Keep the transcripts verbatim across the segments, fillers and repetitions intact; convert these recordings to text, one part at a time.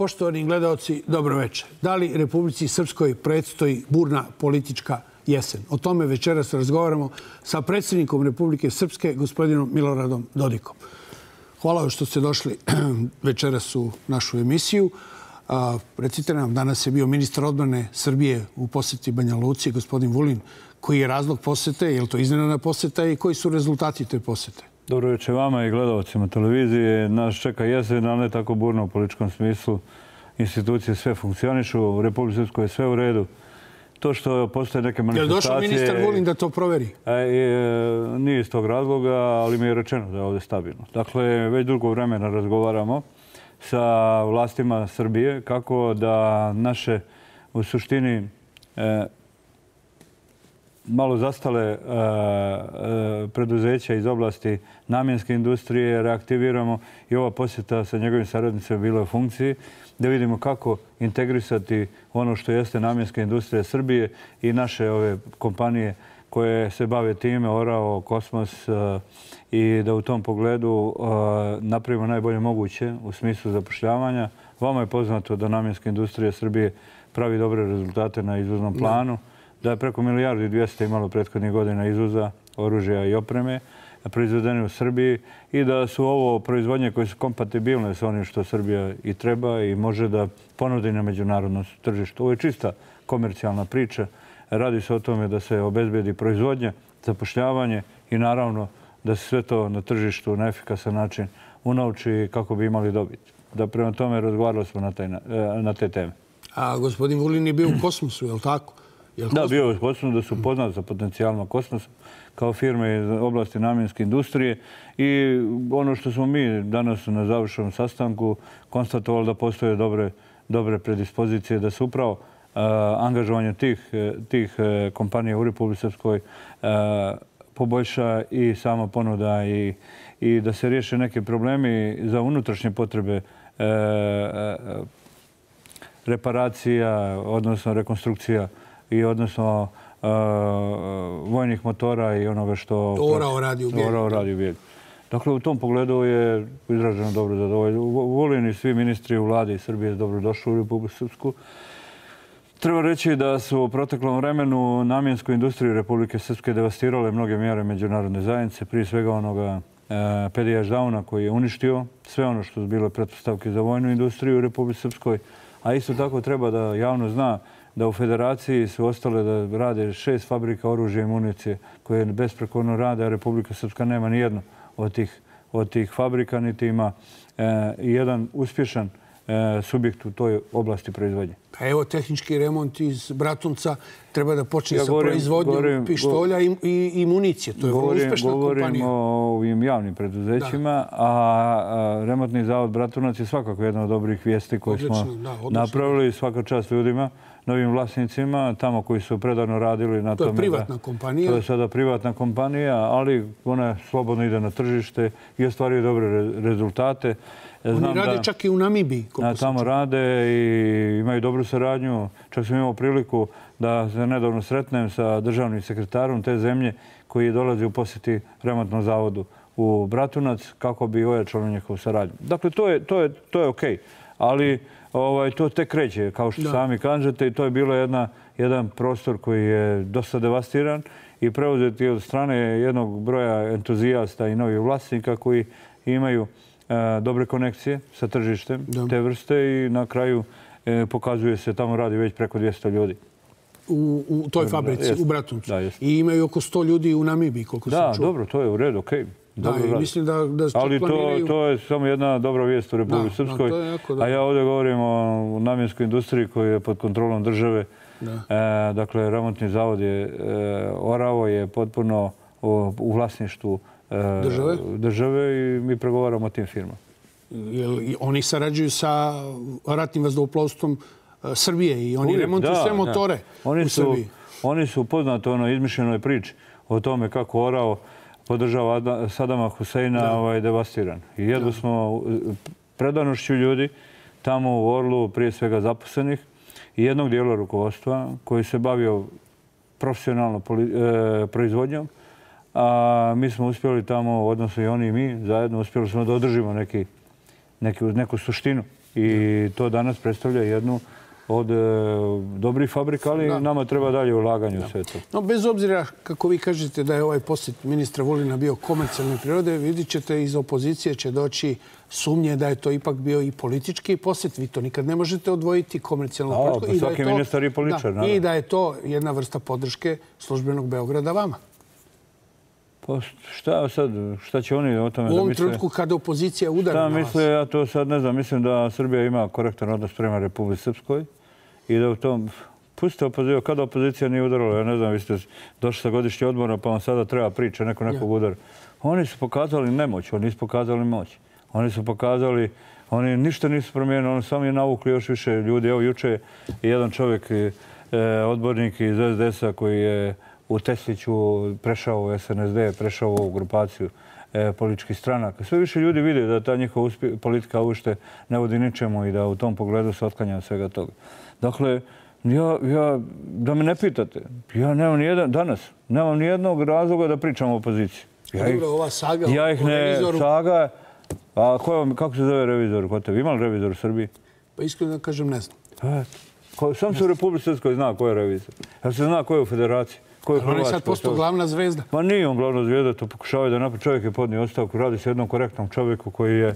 Poštovani gledalci, dobro večer. Da li Republici Srpskoj predstoji burna politička jesen? O tome večeras razgovaramo sa predsjednikom Republike Srpske, gospodinom Miloradom Dodikom. Hvala vam što ste došli večeras u našu emisiju. Recite nam, danas je bio ministar odbrane Srbije u posjeti Banja Luci, gospodin Vulin. Koji je razlog posjete? Je li to iznenadna posjeta i koji su rezultati te posjete? Dobro večer vama i gledalcima televizije. Nas čeka jesen, ali ne tako burno u političkom smislu. Institucije sve funkcionišu, u Republici Srpskoj je sve u redu. To što postoje neke manifestacije... Je li došao ministar Vulin da to proveri? Nije iz tog razloga, ali mi je rečeno da je ovdje stabilno. Dakle, već dugo vremena razgovaramo sa vlastima Srbije kako da naše, u suštini, malo zastale preduzeća iz oblasti namjenske industrije reaktiviramo i ova posjeta sa njegovim saradnicima bila u funkciji da vidimo kako integrisati ono što jeste namjenska industrija Srbije i naše ove kompanije koje se bave time, Orao, Kosmos, i da u tom pogledu napravimo najbolje moguće u smislu zapošljavanja. Vama je poznato da namjenska industrija Srbije pravi dobre rezultate na izvoznom planu, da je preko milijardu i dvjesto imalo prethodnih godina izvoza oružja i opreme proizvedene u Srbiji i da su ovo proizvodnje koje su kompatibilne sa onim što Srbija i treba i može da ponudi na međunarodnom tržištu. Ovo je čista komercijalna priča. Radi se o tome da se obezbedi proizvodnja, zapošljavanje i naravno da se sve to na tržištu na efikasan način unauči kako bi imali dobit. Da prema tome razgovarali smo na, taj, na te teme. A gospodin Vulin je bio u Kosmosu, je li tako? Da, bio je u Kosmosu, da su poznati za potencijalno Kosmosa kao firme iz oblasti namjenske industrije i ono što smo mi danas na završenom sastanku konstatovali da postoje dobre, dobre predispozicije da se upravo uh, angažovanje tih, tih kompanija u Republici Srpskoj uh, poboljša i sama ponuda i, i da se riješe neke problemi za unutrašnje potrebe uh, uh, reparacija, odnosno rekonstrukcija i odnosno uh, vojnih motora i onoga što... Orao radi u Bijeljini. Orao radi u Bijeljini. Dakle, u tom pogledu je izraženo dobro zadovoljstvo. Vulin i svi ministri u vladi Srbije dobro došli u Republiku Srpsku. Treba reći da su u proteklom vremenu namjensku industriju Republike Srpske devastirale mnoge mjere međunarodne zajednice, prije svega onoga uh, Pedijaš Dauna koji je uništio sve ono što su bile pretpostavke za vojnu industriju u Republike Srpskoj, a isto tako treba da javno zna da u federaciji su ostale da rade šest fabrika oružja i municije koje besprekorno rade, a Republika Srpska nema ni jedno od tih, od tih fabrika, niti ima e, jedan uspješan e, subjekt u toj oblasti proizvodnje. Pa evo, tehnički remont iz Bratunca treba da počne ja sa govorim, proizvodnjom govorim, pištolja i, i, i municije. To je vrlo uspješna govorim kompanija. Govorim o ovim javnim preduzećima, da. a, a remontni zavod Bratunac je svakako jedna od dobrih vijesti koje odlično, smo da, napravili. Svaka čast ljudima, novim vlasnicima, tamo koji su predano radili na to tome. To je privatna kompanija. To je sada privatna kompanija, ali ona slobodno ide na tržište i ostvaruje dobre re, rezultate. Znam Oni rade da, čak i u Namibiji. Na, tamo rade i imaju dobru saradnju. Čak sam imao priliku da se nedavno sretnem sa državnim sekretarom te zemlje koji dolazi u posjeti remontnom zavodu u Bratunac kako bi ojačalo njihovu saradnju. Dakle, to je, to je, to je okej. Ali ovaj, to tek kreće, kao što da. sami kažete, i to je bilo jedna, jedan prostor koji je dosta devastiran i preuzeti od strane jednog broja entuzijasta i novih vlasnika koji imaju e, dobre konekcije sa tržištem da. te vrste i na kraju e, pokazuje se tamo radi već preko dvjesto ljudi. U, u toj fabrici, jest. u Bratuncu. Da, I imaju oko sto ljudi u Namibiji, koliko da, sam čuo. Da, dobro, to je u redu, okej. Okay. Da, i mislim da, da Ali planiraju... to, to je samo jedna dobra vijest u Republike Srpskoj. A ja ovdje govorim o namjenskoj industriji koja je pod kontrolom države. Da. E, dakle, remontni zavod je e, Orao je potpuno u, u vlasništvu e, države? države i mi pregovaramo o tim firmama. Jel, oni sarađuju sa ratnim vazduhoplovstvom Srbije i oni Uvijek, remontuju da, sve motore da. Oni u su, Srbiji. Oni su poznati ono izmišljenoj priči o tome kako Orao podržava Sadama Huseina ovaj, devastiran. I jedno smo predanošću ljudi tamo u Orlu, prije svega zaposlenih, i jednog dijela rukovodstva koji se bavio profesionalno e, proizvodnjom. A mi smo uspjeli tamo, odnosno i oni i mi, zajedno uspjeli smo da održimo neki, neki, neku suštinu I to danas predstavlja jednu od e, dobrih fabrika, ali da. Nama treba dalje ulaganje da. U sve to. No, bez obzira, kako vi kažete da je ovaj posjet ministra Vulina bio komercijalne prirode, vidit ćete iz opozicije će doći sumnje da je to ipak bio i politički posjet. Vi to nikad ne možete odvojiti komercijalno političko. Pa svaki da je ministar i političar. Da, I da je to jedna vrsta podrške službenog Beograda vama. Pa šta sad, šta će oni o tome da misle? U ovom trenutku kada opozicija udara na vas. Šta misle, ja to sad ne znam. Mislim da Srbija ima korektan odnos prema Republici Srpskoj i da u tom... Pustite opoziciju, kada opozicija nije udarala, ja ne znam, vi ste došli sa godišnje odmora pa vam sada treba priča, neko nekog udara. Oni su pokazali nemoć, oni nisu pokazali moć. Oni su pokazali, oni ništa nisu promijenili, oni samo je navukli još više ljudi. Evo juče je jedan čovjek, odbornik iz es de es-a koji je u Tesliću prešao u es en es de, prešao u ovu grupaciju e, političkih stranaka. Sve više ljudi vide da ta njihova politika uopšte ne vodi ničemu i da u tom pogledu se otklanja od svega toga. Dakle, ja, ja, da me ne pitate, ja nemam ni jedan, danas nemam ni jednog razloga da pričam o opoziciji. Ja ih, ova saga ja ih ne, revizoru... saga, a ko, kako se zove revizor kod tebi? Ima li revizor u Srbiji? Pa iskreno da kažem, ne znam. E, ko, sam se u Republici Srpskoj zna ko je revizor. Ja se zna ko je u Federaciji. On je sad postao glavna zvezda. Pa nije on glavna zvezda, to pokušavaju da napravi. Čovjek je podnio ostavku, radi se jednom korektnom čovjeku koji je,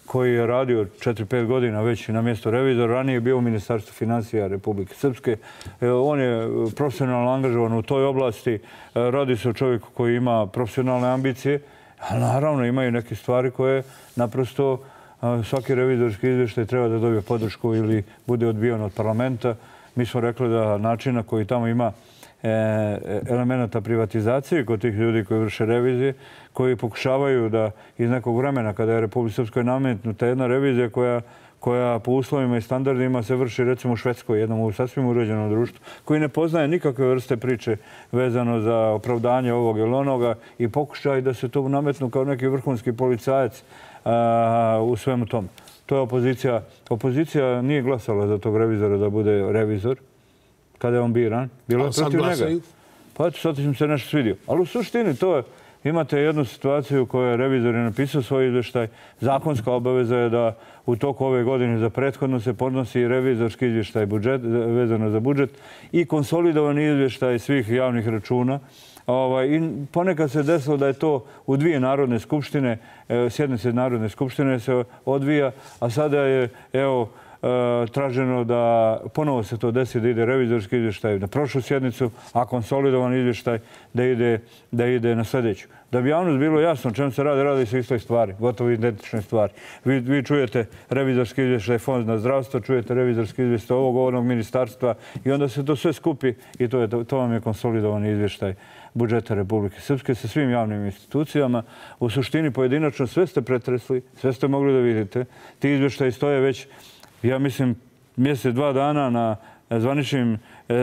koji je radio četiri pet godina već na mjesto revizora. Ranije je bio u Ministarstvu financija Republike Srpske. On je profesionalno angažovan u toj oblasti. Radi se o čovjeku koji ima profesionalne ambicije, ali naravno imaju neke stvari koje naprosto svaki revizorski izvještaj treba da dobije podršku ili bude odbijen od parlamenta. Mi smo rekli da načina koji tamo ima elemenata privatizacije kod tih ljudi koji vrše revizije, koji pokušavaju da iz nekog vremena kada je Republika Srpskoj nametnuta jedna revizija koja, koja po uslovima i standardima se vrši recimo u Švedskoj, jednom u sasvim uređenom društvu, koji ne poznaje nikakve vrste priče vezano za opravdanje ovog ili onoga i pokušaj da se to nametnu kao neki vrhunski policajac a, u svemu tom. To je opozicija. Opozicija nije glasala za tog revizora da bude revizor. Kada je on biran, bilo je protiv njega. Pa eto, sad im se nešto svidio. Ali u suštini to je, imate jednu situaciju koju je revizor je napisao svoj izvještaj. Zakonska obaveza je da u toku ove godine za prethodno se podnosi revizorski izvještaj budžet, vezano za budžet i konsolidovani izvještaj svih javnih računa. Ovaj, i ponekad se desilo da je to u dvije narodne skupštine, sjednice Narodne skupštine se odvija, a sada je, evo, traženo da ponovo se to desi da ide revizorski izvještaj na prošlu sjednicu, a konsolidovan izvještaj da ide, da ide na sljedeću. Da bi javnost bilo jasno čemu se radi, radi se istoj stvari, gotovo identične stvari. Vi, vi čujete revizorski izvještaj Fond na zdravstvo, čujete revizorski izvještaj ovog ovog ministarstva i onda se to sve skupi i to, je, to vam je konsolidovani izvještaj budžeta Republike Srpske sa svim javnim institucijama. U suštini pojedinačno sve ste pretresli, sve ste mogli da vidite. Ti izvještaji stoje već, ja mislim, mjesec, dva dana na zvaničnim e, e,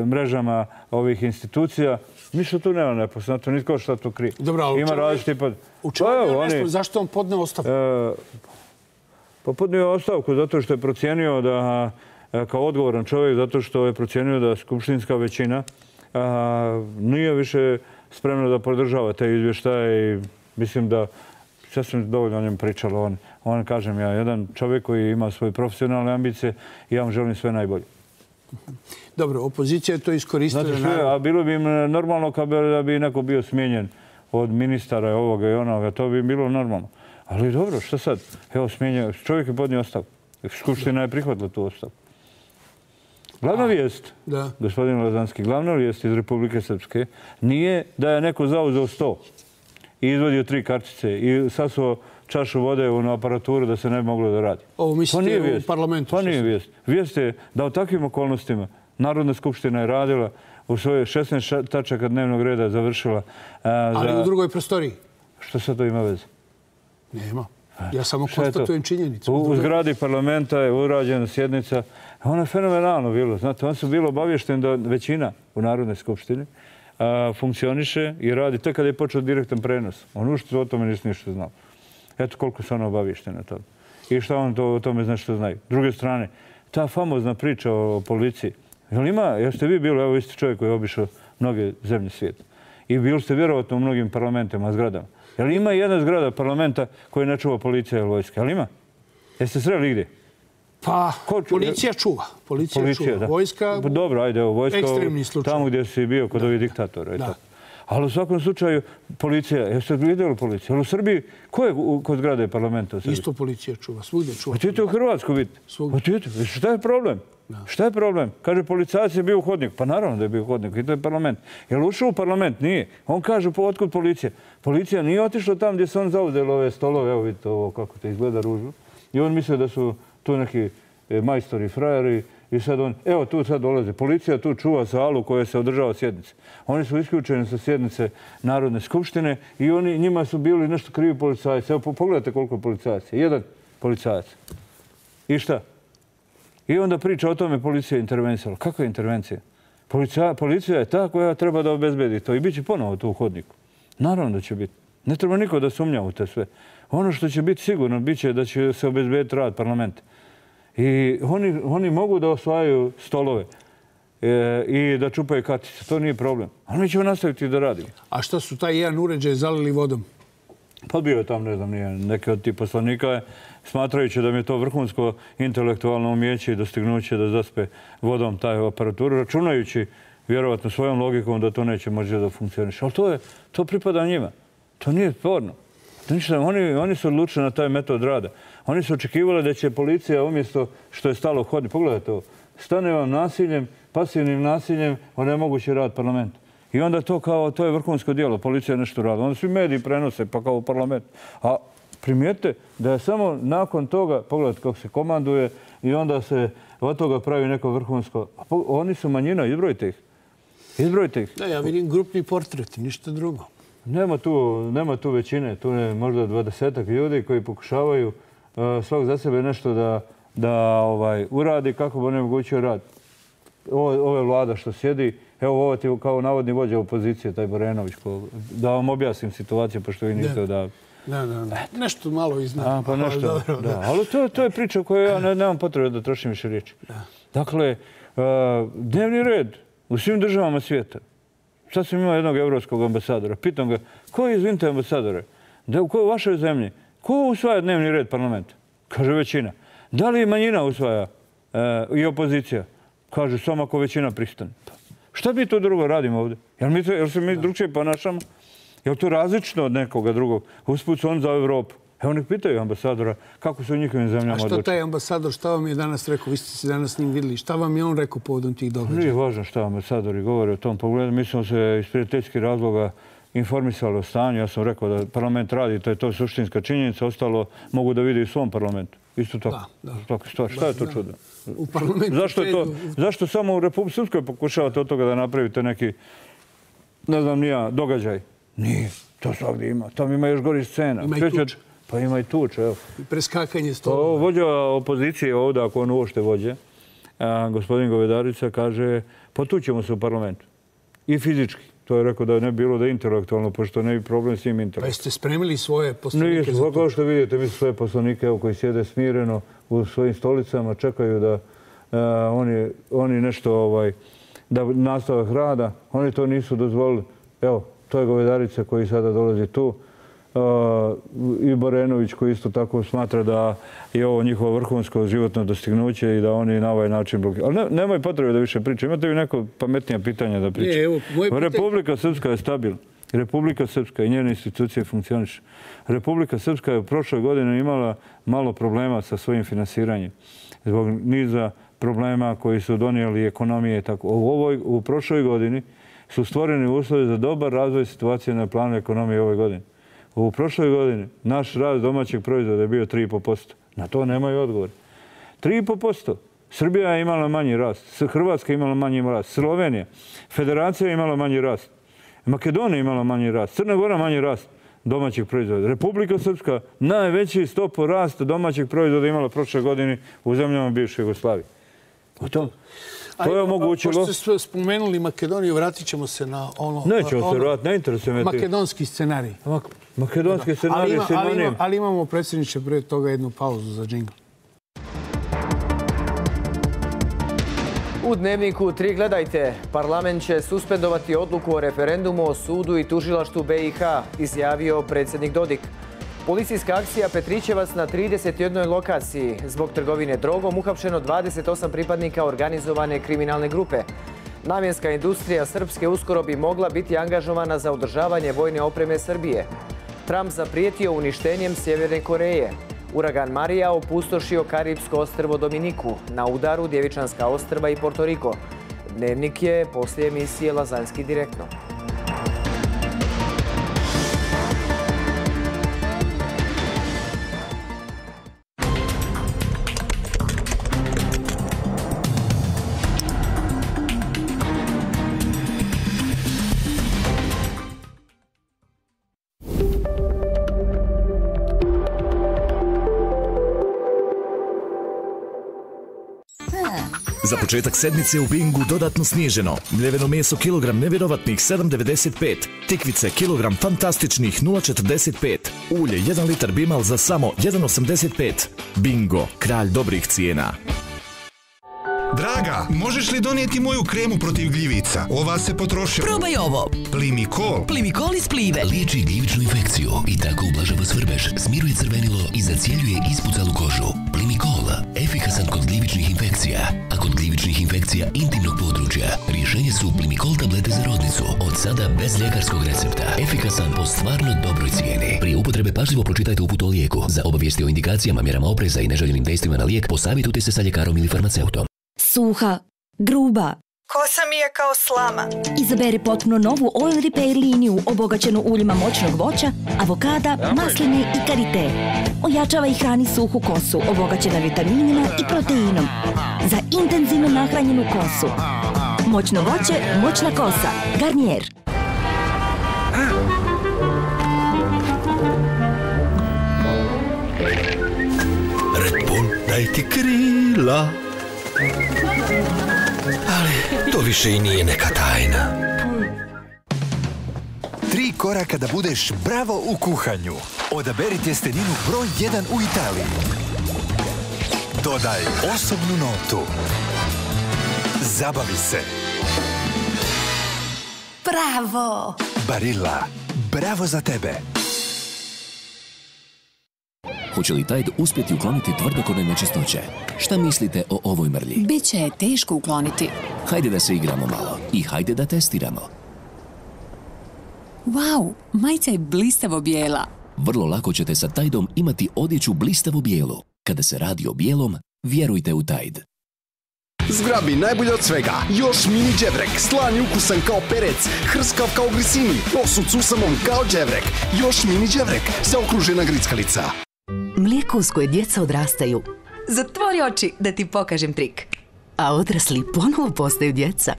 mrežama ovih institucija. Ništa tu nema nepoznato, nitko šta to krije. Dobro, ali ima različiti pad. U čemu je nešto? Zašto on podneo ostavku? E, pa podneo ostavku zato što je procijenio da, kao odgovoran čovjek, zato što je procijenio da skupštinska većina a, nije više spremna da podržava te izvještaje i mislim da sve sam dovoljno o njem pričalo. On, on, kažem ja, jedan čovjek koji ima svoje profesionalne ambicije i ja vam želim sve najbolje. Dobro, opozicija je to iskoristila. Znači, sve, a bilo bi im normalno da bi neko bio smijenjen od ministara ovoga i onoga. To bi bilo normalno. Ali dobro, što sad? Evo, smijenjen. Čovjek je podnio ostavku. Skupština je prihvatila tu ostavku. Glavna vijest, da. Gospodin Lazanski, glavna vijest iz Republike Srpske nije da je neko zauzeo sto i izvodio tri kartice i sasuo čašu vode u aparaturu da se ne bi moglo da radi. Ovo mislite u parlamentu? Pa nije vijest. Vijest je da u takvim okolnostima Narodna skupština je radila u svoje šesnaest tačaka dnevnog reda završila. A, Ali za... u drugoj prostoriji? Što sad to ima veze? Nema. Ja samo konstatujem činjenicu. U, u zgradi parlamenta je urađena sjednica. Ono je fenomenalno bilo. Znate, on su bilo obavješten da većina u Narodnoj skupštini a, funkcioniše i radi tek kada je počeo direktan prenos. On ušte o tome nisi ništa znao. Eto koliko su ono obavješteni na to. I šta on to, o tome zna što znaju. S druge strane, ta famozna priča o policiji. Jel ima, jeste vi bili, evo vi ste čovjek koji je obišao mnoge zemlje svijeta. I bili ste vjerovatno u mnogim parlamentima, zgradama. Jel ima jedna zgrada parlamenta koju ne čuva policija ili vojska? Jel ima? Jeste sreli gdje? Pa, policija čuva. Policija čuva. Vojska, dobro, ajde, vojska ekstremni slučaj. Tamo gdje si bio kod ovih diktatora. Ali u svakom slučaju, policija, jeste vidjeli policiju? Ali u Srbiji, ko je kod zgrade parlamenta u Srbiji? Isto policija čuva, svugdje čuva. Otidite u Hrvatsku vidite. Otidite, šta je problem? Šta je problem? Kaže, policajac je bio u hodniku. Pa naravno da je bio u hodniku i to je parlament. Je li ušao u parlament? Nije. On kaže, otkud policija? Policija nije otišla tam gdje se on zauzeli ove stolove. Evo vidite ovo kako te izgleda ružno. I on misle da su tu neki majstori, frajeri. I sad on, evo tu sad dolaze. Policija tu čuva salu koja se održava sjednice. Oni su isključeni sa sjednice Narodne skupštine i oni, njima su bili nešto krivi policajci. Evo pogledajte koliko je policajaca. Jedan policajac. I šta? I onda priča o tome policija je intervencijala. Kakva je intervencija? Policija, policija je ta koja treba da obezbedi to i bit će ponovo tu u hodniku. Naravno da će biti. Ne treba niko da sumnja u te sve. Ono što će biti sigurno, bit će da će se obezbediti rad parlamenta. I oni, oni mogu da osvajaju stolove e, i da čupaju kartice. To nije problem. Ali mi ćemo nastaviti da radimo. A šta su taj jedan uređaj zalili vodom? Pa bio je tam, ne znam, nije, neki od tih poslanika, smatrajući da mi je to vrhunsko intelektualno umjeće i dostignuće da zaspe vodom taj aparaturu, računajući vjerovatno svojom logikom da to neće moći da funkcioniše. Ali to, je, to pripada njima. To nije sporno. Oni, oni su odlučili na taj metod rada. Oni su očekivali da će policija umjesto što je stalo hoditi. Pogledajte ovo. Stane vam nasiljem, pasivnim nasiljem, onemogući rad parlamenta. I onda to kao, to je vrhunsko djelo, policija nešto radi. Onda svi mediji prenose, pa kao parlament. A primijete da je samo nakon toga, pogledajte kako se komanduje i onda se od toga pravi neko vrhunsko. A oni su manjina, izbrojite ih. Izbrojite ih. Da, ja vidim grupni portret, ništa drugo. Nema tu, nema tu većine, tu je možda dvadesetak ljudi koji pokušavaju uh, svak za sebe nešto da, da ovaj, uradi kako bi onemogućio rad. Ovo, ovo je vlada što sjedi. Evo, ovo ti kao navodni vođa opozicije, taj Borenović. Ko, da vam objasnim situaciju, pošto vi niste odavde. Da, da, da. Nešto malo iznad. A, pa nešto, dobro, da. Da. Ali to, to je priča koju ja ne, nemam potrebe da trošim više riječi. Da. Dakle, uh, dnevni red u svim državama svijeta. Sad sam imao jednog evropskog ambasadora. Pitam ga, ko je, izvinite ambasadore, da u kojoj vašoj zemlji, ko usvaja dnevni red parlamenta? Kaže većina. Da li manjina usvaja e, i opozicija? Kaže, samo ako većina pristane. Šta bi to drugo radimo ovdje? Jel, mi, jel se mi drugčije ponašamo? Je li to različno od nekoga drugog? Usput su on za Evropu. Evo nek pitaju ambasadora kako su u njihovim zemljama odlučili. A što taj ambasador, šta vam je danas rekao? Vi ste se danas s njim vidjeli. Šta vam je on rekao povodom tih događaja? Nije važno šta ambasadori govore o tom pogledu. Mi smo se iz prijateljskih razloga informisali o stanju. Ja sam rekao da parlament radi, to je to suštinska činjenica. Ostalo mogu da vidi u svom parlamentu. Isto tako. Da, da. Šta je to čudno? U parlamentu zašto, je to, zašto samo u Republike Srpskoj pokušavate od toga da napravite neki, ne znam, nija događaj? Nije. To svakdje ima. Tam ima još gori scena. Ima i tuča. Pa ima i tuča, evo. I preskakanje stolova. Vođa opozicije ovdje, ako on uošte vođe, a, gospodin Govedarica kaže, potućemo se u parlamentu. I fizički. To je rekao da ne bi bilo da je intelektualno, pošto ne bi problem s njim intelektualno. Pa jeste spremili svoje poslanike za to? Kao što vidite, mi su svoje poslanike evo, koji sjede smireno u svojim stolicama, čekaju da a, oni, oni nešto, ovaj, da nastavak rada. Oni to nisu dozvolili. Evo, to je Govedarica koji sada dolazi tu. Uh, i Borenović koji isto tako smatra da je ovo njihovo vrhunsko životno dostignuće i da oni na ovaj način blokiraju. Ali ne, nemoj potrebe da više pričaju. Imate vi neko pametnija pitanja da pričaju? Evo, pitanje... Republika Srpska je stabilna. Republika Srpska i njene institucije funkcionišu. Republika Srpska je u prošloj godini imala malo problema sa svojim finansiranjem. Zbog niza problema koji su donijeli ekonomije. Tako. U, ovoj, u prošloj godini su stvoreni uslovi za dobar razvoj situacije na planu ekonomije ove godine. U prošloj godini naš rast domaćeg proizvoda je bio tri i po posto. Na to nemaju odgovor. tri i po posto. Srbija je imala manji rast. Hrvatska je imala manji rast. Slovenija. Federacija je imala manji rast. Makedonija je imala manji rast. Crna Gora manji rast domaćeg proizvoda. Republika Srpska najveći stopu rasta domaćeg proizvoda imala prošle godine u zemljama bivše Jugoslavije. O tom. To je omogućilo... Pošto ste spomenuli Makedoniju, vratit ćemo se na ono... Nećemo se vratiti, ne interesuje me. Makedonski scenarij. Makedonski scenarij je sinonim. Ali imamo, predsjedniče, pre toga jednu pauzu za džingl. U Dnevniku tri gledajte. Parlament će suspendovati odluku o referendumu o sudu i tužilaštvu B i H, izjavio predsjednik Dodik. Policijska akcija Petrićevac na trideset jednoj lokaciji. Zbog trgovine drogom uhapšeno dvadeset osam pripadnika organizovane kriminalne grupe. Namjenska industrija Srpske uskoro bi mogla biti angažovana za održavanje vojne opreme Srbije. Trump zaprijetio uništenjem Sjeverne Koreje. Uragan Marija opustošio Karibsko ostrvo Dominiku. Na udaru Djevičanska ostrva i Portoriko. Dnevnik je poslije emisije Lazanski direktno. Za početak sedmice u Bingu dodatno snježeno. Mljeveno meso kilogram nevjerovatnih sedam devedeset pet. Tikvice kilogram fantastičnih nula četrdeset pet. Ulje jedan litar Bimal za samo jedan osamdeset pet. Bingo, kralj dobrih cijena. Draga, možeš li donijeti moju kremu protiv gljivica? Ova se potrošila. Probaj ovo. Plimikol. Plimikol iz Plive. Liječi gljivičnu infekciju i tako ublažava svrbež, smiruje crvenilo i zacjeljuje ispucalu kožu. Plimikol, efikasan kod gljivičnih infekcija. A kod gljivičnih infekcija intimnog područja, rješenje su Plimikol tablete za rodnicu. Od sada bez ljekarskog recepta. Efikasan po stvarno dobroj cijeni. Prije upotrebe pažljivo pročitajte uput o lijeku. Za obavijesti o indikacijama, mjerama opreza i neželjenim dejstvima na lijek, posavjetujte se sa ljekarom ili farmaceutom. Suha, gruba. Kosa mi je kao slama. Izaberi potpuno novu Oil Repair liniju obogaćenu uljima moćnog voća, avokada, masline i karite. Ojačava i hrani suhu kosu obogaćena vitaminima i proteinom. Za intenzivno nahranjenu kosu. Moćno voće, moćna kosa. Garnier. Red Bull, daj ti krila. Ali to više i nije neka tajna. Tri koraka da budeš bravo u kuhanju. Odaberi tjesteninu broj jedan u Italiji. Dodaj osobnu notu. Zabavi se. Bravo! Barilla. Bravo za tebe. Hoće li Tide uspjeti ukloniti tvrdokorne nečistoće? Šta mislite o ovoj mrlji? Biće je teško ukloniti. Hajde da se igramo malo i hajde da testiramo. Wow, majica je blistavo bijela. Vrlo lako ćete sa Tideom imati odjeću blistavo bijelu. Kada se radi o bijelom, vjerujte u Tide. Zgrabi najbolje od svega. Još mini dževrek, slan i ukusan kao perec, hrskav kao grisini, osud s usamom kao dževrek. Još mini dževrek, zaokružena grickalica. Mlijeko uz koje djeca odrastaju. Zatvori oči da ti pokažem trik. A odrasli ponovo postaju djeca.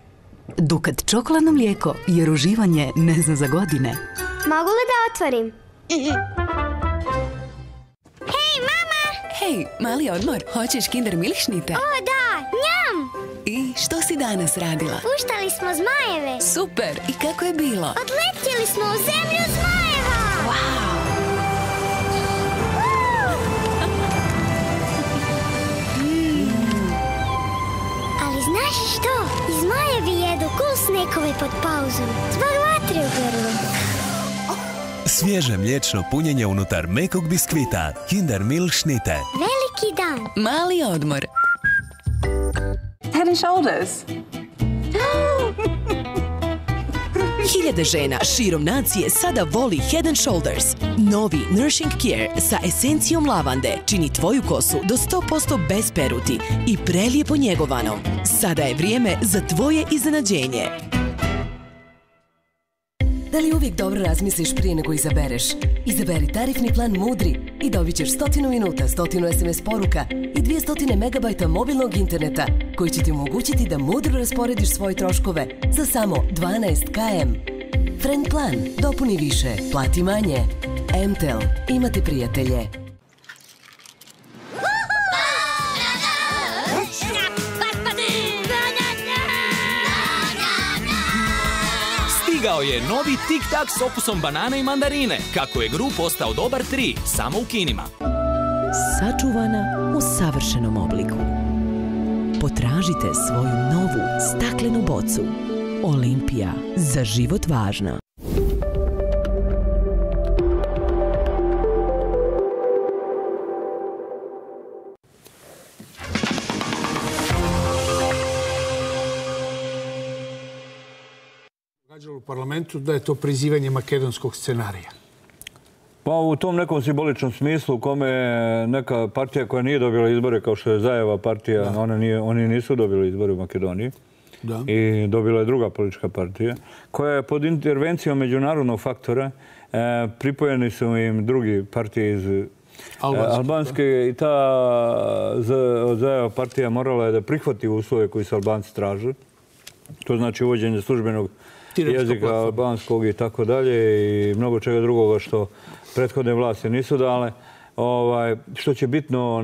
Dukat čokoladno mlijeko, jer uživanje ne zna za godine. Mogu li da otvorim? Hej, mama! Hej, mali odmor, hoćeš Kinder Milkšnite? O, da, njam! I što si danas radila? Puštali smo zmajeve. Super, i kako je bilo? Odletjeli smo u zemlju zmajeva! Wow! Znaš što? Zmajevi jedu kul snekove pod pauzom. Zbog vatre u grlu. Svježe mliječno punjenje unutar mekog biskvita. Kinder Milkšnite. Veliki dan. Mali odmor. Head and Shoulders. Hiljade žena širom nacije sada voli Head and Shoulders. Novi Nourishing Care sa esencijom lavande čini tvoju kosu do sto posto bez peruti i prelijepo njegovanom. Sada je vrijeme za tvoje iznenađenje. Da li uvijek dobro razmisliš prije nego izabereš? Izaberi tarifni plan Mudri i dobit ćeš stotinu minuta, stotinu es em es poruka i dvjesto megabajta mobilnog interneta koji će ti omogućiti da mudro rasporediš svoje troškove za samo dvanaest kilometara. Friend plan. Dopuni više. Plati manje. M T L. Imate prijatelje. Stigao je novi Tic Tac s okusom banane i mandarine. Kako je Gru postao dobar tri, samo u kinima. Sačuvana u savršenom obliku. Potražite svoju novu staklenu bocu. Olimpija, za život važna. događalo u parlamentu da je to prizivanje makedonskog scenarija? Pa u tom nekom simboličnom smislu u kome neka partija koja nije dobila izbore, kao što je Zajeva partija, ona nije, oni nisu dobili izbore u Makedoniji. Da. I dobila je druga politička partija, koja je pod intervencijom međunarodnog faktora, e, pripojeni su im drugi partije iz Albanske, Albanske i ta Zajeva partija morala je da prihvati uslove koji su Albanci traže. To znači uvođenje službenog jezika albanskog i tako dalje i mnogo čega drugoga što prethodne vlasti nisu dale. Ovaj, što će bitno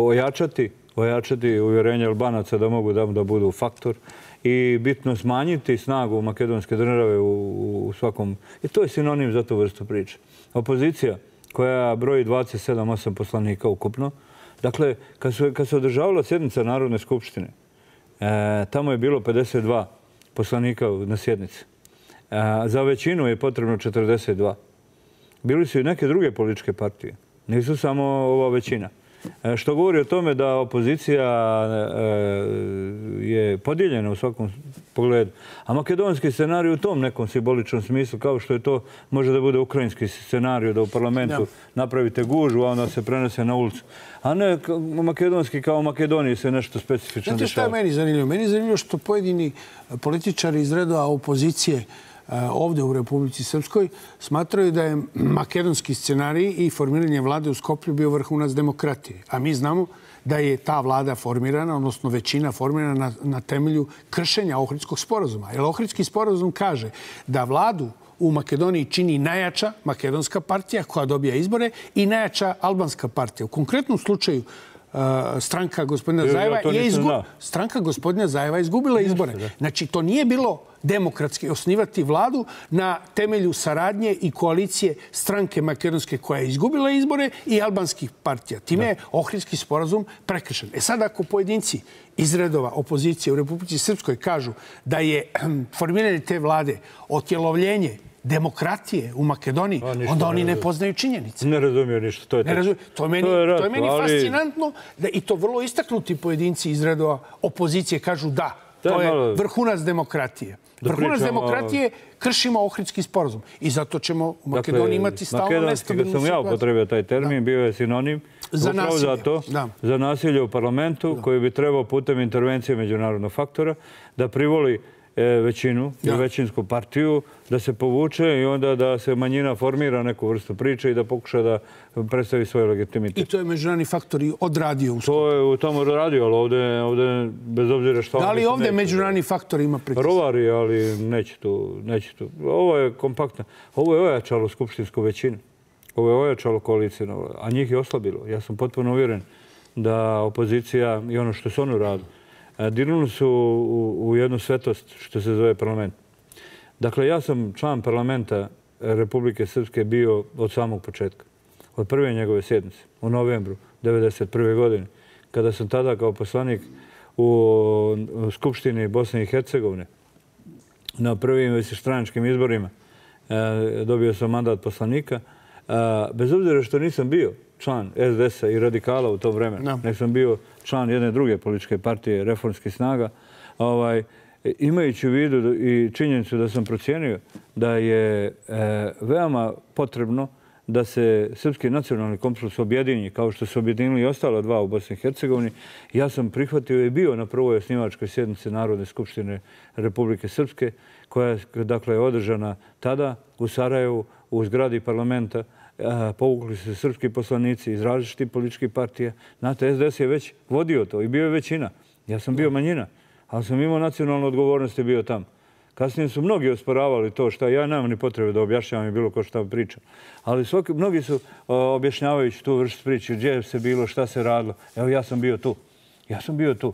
ojačati, ojačati uvjerenje Albanaca da mogu da, da budu faktor i bitno smanjiti snagu makedonske države u, u svakom... I to je sinonim za tu vrstu priče. Opozicija koja broji dvadeset sedam osam poslanika ukupno. Dakle, kad, su, kad se održavala sjednica Narodne skupštine, e, tamo je bilo pedeset dva poslanika na sjednici. E, za većinu je potrebno četrdeset dva. Bili su i neke druge političke partije. Nisu samo ova većina. E, što govori o tome da opozicija e, je podijeljena u svakom pogledu. A makedonski scenarij u tom nekom simboličnom smislu, kao što je to može da bude ukrajinski scenarij, da u parlamentu ja. napravite gužu, a onda se prenese na ulicu. A ne makedonski kao u Makedoniji se nešto specifično dešava. Znate šta je meni zanimljivo? Meni je zanimljivo što pojedini političari iz redova opozicije ovdje u Republici Srpskoj smatraju da je makedonski scenarij i formiranje vlade u Skoplju bio vrhunac demokratije. A mi znamo da je ta vlada formirana, odnosno većina formirana na, na temelju kršenja Ohridskog sporazuma. Jer Ohridski sporazum kaže da vladu u Makedoniji čini najjača makedonska partija koja dobija izbore i najjača albanska partija. U konkretnom slučaju stranka gospodina Zajeva je izgubila. Stranka gospodina Zajeva je izgubila izbore. Znači, to nije bilo demokratski osnivati vladu na temelju saradnje i koalicije stranke makedonske koja je izgubila izbore i albanskih partija. Time je Ohridski sporazum prekršen. E sad, ako pojedinci iz redova opozicije u Republici Srpskoj kažu da je formiranje te vlade otjelovljenje demokratije u Makedoniji, a, onda oni ne, ne poznaju činjenice. Ne razumiju ništa. To je, ne razumiju. To je meni, to je rat, to je meni ali... fascinantno da i to vrlo istaknuti pojedinci iz redova opozicije kažu da, to je, je malo... vrhunac demokratije. Da vrhunac pričamo... demokratije kršimo Ohridski sporazum. I zato ćemo u Makedoniji dakle, imati stalno nestabilnu situaciju. Kad sam ja upotrebio taj termin, da. bio je sinonim za nasilje. Za, to, da. za nasilje u parlamentu da. koji bi trebao putem intervencije međunarodnog faktora da privoli većinu i većinsku partiju, da se povuče i onda da se manjina formira neku vrstu priče i da pokuša da predstavi svoj legitimitet. I to je međunarodni faktor i odradio u To je u tomu odradio, ali ovdje, ovdje bez obzira što... Da li ovdje međunarodni faktor ima pritisak? Rovari, ali neće tu, neće tu. Ovo je kompaktno. Ovo je ojačalo skupštinsku većinu. Ovo je ojačalo koaliciju, a njih je oslabilo. Ja sam potpuno uvjeren da opozicija i ono što su oni radili, dirnuli su u, u jednu svetost što se zove parlament. Dakle, ja sam član parlamenta Republike Srpske bio od samog početka. Od prve njegove sjednice u novembru devedeset prve. godine. Kada sam tada kao poslanik u Skupštini Bosne i Hercegovine na prvim višestranačkim izborima dobio sam mandat poslanika. Bez obzira što nisam bio član es de es a i radikala u to vremenu, no. nek sam bio član jedne druge političke partije, Reformskih snaga, ovaj, imajući u vidu i činjenicu da sam procijenio da je e, veoma potrebno da se srpski nacionalni kompromis objedinji, kao što su objedinili i ostala dva u Bosni i Hercegovini. Ja sam prihvatio i bio na prvoj osnivačkoj sjednici Narodne skupštine Republike Srpske, koja je dakle, održana tada u Sarajevu, u zgradi parlamenta. Povukli su se srpski poslanici iz različitih političkih partija. Znate, es de es je već vodio to i bio je većina. Ja sam bio manjina, ali sam imao nacionalnu odgovornost i bio tamo. Kasnije su mnogi osporavali to što ja nemam ni potrebe da objašnjavam i bilo ko šta pričam. Ali svaki, mnogi su objašnjavajući tu vrstu priče, gdje se bilo, šta se radilo. Evo, ja sam bio tu. Ja sam bio tu.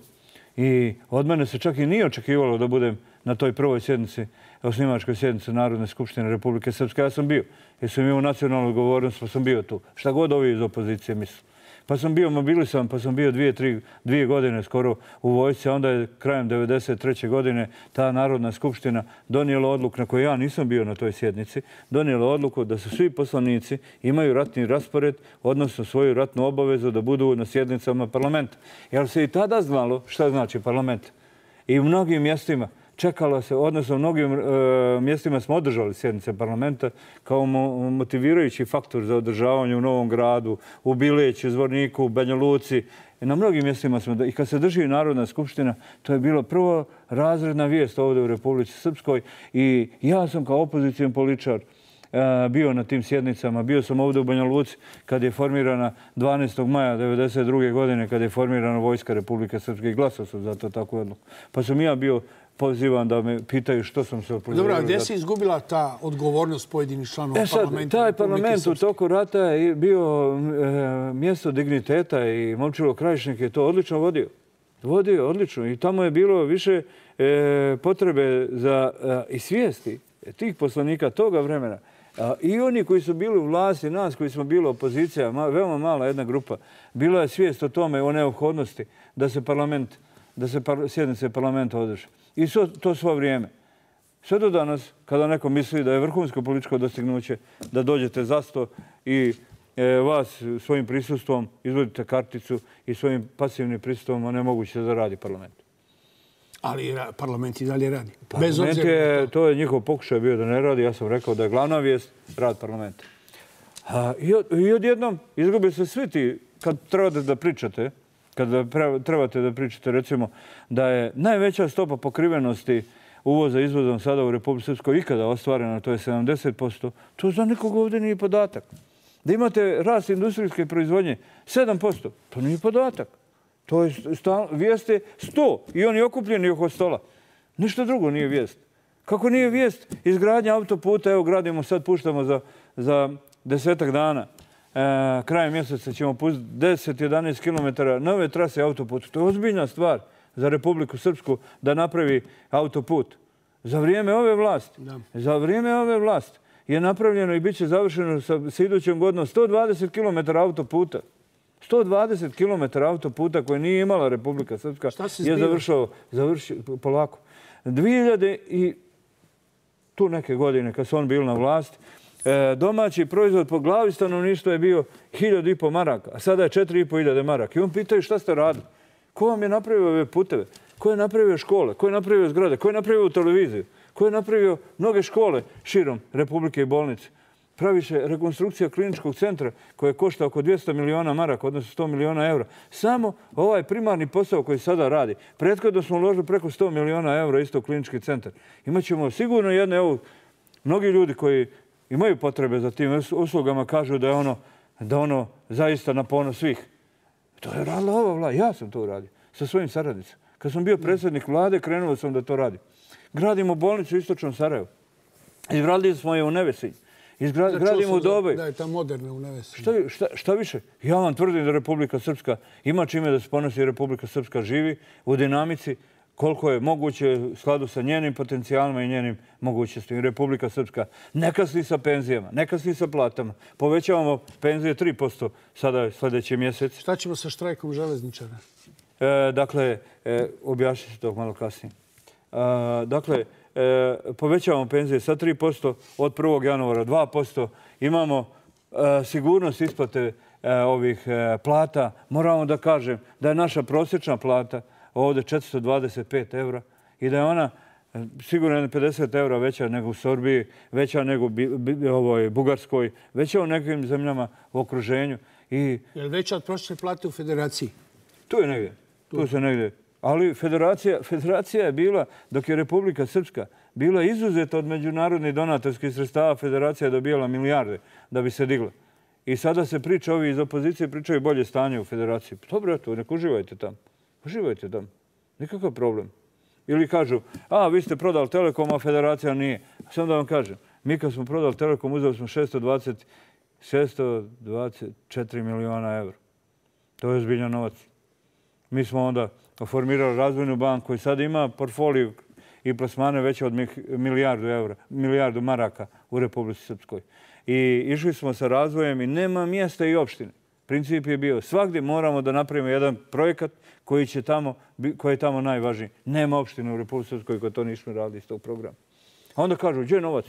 I od mene se čak i nije očekivalo da budem na toj prvoj sjednici, osnivačkoj sjednici Narodne skupštine Republike Srpske. Ja sam bio. Jer sam imao nacionalnu odgovornost, pa sam bio tu. Šta god ovi iz opozicije misle. Pa sam bio mobilisan, pa sam bio dvije, tri, dvije godine skoro u vojsci, a onda je krajem devedeset treće. godine ta Narodna skupština donijela odluku, na kojoj ja nisam bio na toj sjednici, donijela odluku da su svi poslanici imaju ratni raspored, odnosno svoju ratnu obavezu da budu na sjednicama parlamenta. Jer se i tada znalo šta znači parlament. I u mnogim mjestima čekalo se, odnosno mnogim mjestima smo održali sjednice parlamenta kao motivirajući faktor za održavanje u Novom Gradu, u Bileću, Zvorniku, u Banja Luci. Na mnogim mjestima smo, i kad se drži Narodna skupština, to je bilo prvo razredna vijest ovdje u Republici Srpskoj i ja sam kao opozicijan političar bio na tim sjednicama. Bio sam ovdje u Banja Luci kad je formirana dvanaestog maja devedeset druge godine, kad je formirana Vojska Republike Srpske i glasao sam za to takvu odluku. Pa sam ja bio pozivan da me pitaju što sam se opozivirao. Dobro, a gdje se izgubila ta odgovornost pojedinih članova e sad, parlamenta? Taj parlament u toku rata je bio e, mjesto digniteta i Momčilo Krajišnik je to odlično vodio. Vodio odlično i tamo je bilo više e, potrebe za e, i svijesti tih poslanika toga vremena. A, I oni koji su bili u vlasti, nas koji smo bili opozicija, ma, veoma mala jedna grupa, bila je svijest o tome, o neophodnosti da se parlament, da se par, sjednice parlamenta održe. I so, to svo vrijeme. Sve do danas, kada neko misli da je vrhunsko političko dostignuće, da dođete za sto i e, vas svojim prisustvom izvodite karticu i svojim pasivnim prisustvom onemogućite da radi parlament. Ali parlament i dalje radi. Bez obzira je, to je njihov pokušaj bio da ne radi. Ja sam rekao da je glavna vijest rad parlamenta. A, i, od, I odjednom izgubi se svi ti, kad trebate da pričate, kad trebate da pričate, recimo, da je najveća stopa pokrivenosti uvoza i izvozom sada u Republici Srpskoj ikada ostvarena, to je sedamdeset posto, to za nikog ovdje nije podatak. Da imate rast industrijske proizvodnje sedam posto, to nije podatak. To je vijest je sto i oni okupljeni oko stola. Ništa drugo nije vijest. Kako nije vijest izgradnja autoputa, evo gradimo, sad puštamo za, za desetak dana. E, krajem mjeseca ćemo pustiti deset do jedanaest kilometara nove trase autoputa. To je ozbiljna stvar za Republiku Srpsku da napravi autoput. Za vrijeme ove vlasti, da. za vrijeme ove vlasti je napravljeno i bit će završeno sa, sa idućom godinom sto dvadeset kilometara autoputa. sto dvadeset kilometara autoputa koje nije imala Republika Srpska je završao, završio polako. dvije hiljade i tu neke godine kad su on bili na vlasti, domaći proizvod po glavi stanovništva je bio hiljadu i po maraka, a sada je četiri i po hiljade maraka. I on pitaju šta ste radili? Ko vam je napravio ove puteve? Ko je napravio škole? Ko je napravio zgrade? Ko je napravio televiziju? Ko je napravio mnoge škole širom Republike i bolnice? Praviše rekonstrukcija kliničkog centra koja košta oko dvjesto miliona maraka, odnosno sto miliona eura. Samo ovaj primarni posao koji sada radi. Prethodno smo uložili preko sto miliona eura isto u klinički centar. Imaćemo sigurno jedne, evo, mnogi ljudi koji imaju potrebe za tim uslugama kažu da je ono, da ono zaista na ponos svih. To je radila ova vlada. Ja sam to uradio sa svojim saradnicima. Kad sam bio predsjednik vlade, krenuo sam da to radim. Gradimo bolnicu u istočnom Sarajevu. Izgradili smo je u Nevesinju. Izgradimo u Doboj. Da je ta moderna u Nevesinju. Šta, šta, šta više? Ja vam tvrdim da Republika Srpska ima čime da se ponosi. Republika Srpska živi u dinamici koliko je moguće u skladu sa njenim potencijalima i njenim mogućnostima. Republika Srpska ne kasni sa penzijama, ne kasni sa platama. Povećavamo penzije tri posto sada sljedeći mjesec. Šta ćemo sa štrajkom železničara? E, dakle, e, objašnit ću to malo kasnije. E, dakle, e, povećavamo penzije sa tri posto, od prvog januara dva posto. Imamo e, sigurnost isplate e, ovih e, plata. Moramo da kažem da je naša prosječna plata ovdje četiristo dvadeset pet evra i da je ona sigurno pedeset evra veća nego u Srbiji, veća nego u ovoj Bugarskoj, veća u nekim zemljama u okruženju. I je li veća od prosječne plate u federaciji? Tu je negdje. Tu, tu se negdje. Ali federacija, federacija je bila, dok je Republika Srpska bila izuzeta od međunarodnih donatorskih sredstava, federacija je dobijala milijarde da bi se digla. I sada se priča, ovi iz opozicije pričaju bolje stanje u federaciji. Dobro, eto, nek uživajte tamo. Uživajte tamo. Nikakav problem. Ili kažu, a, vi ste prodali Telekom, a federacija nije. Samo da vam kažem, mi kad smo prodali Telekom, uzeli smo šesto dvadeset četiri miliona evra. To je ozbiljan novac. Mi smo onda formirali razvojnu banku koji sad ima portfoliju i plasmane veće od milijardu evra, milijardu maraka u Republici Srpskoj. I išli smo sa razvojem i nema mjesta i opštine. Princip je bio, svakdje moramo da napravimo jedan projekat koji će tamo, koji je tamo najvažniji. Nema opštine u Republici Srpskoj koji to nismo radili iz tog programa. A onda kažu, gdje je novac?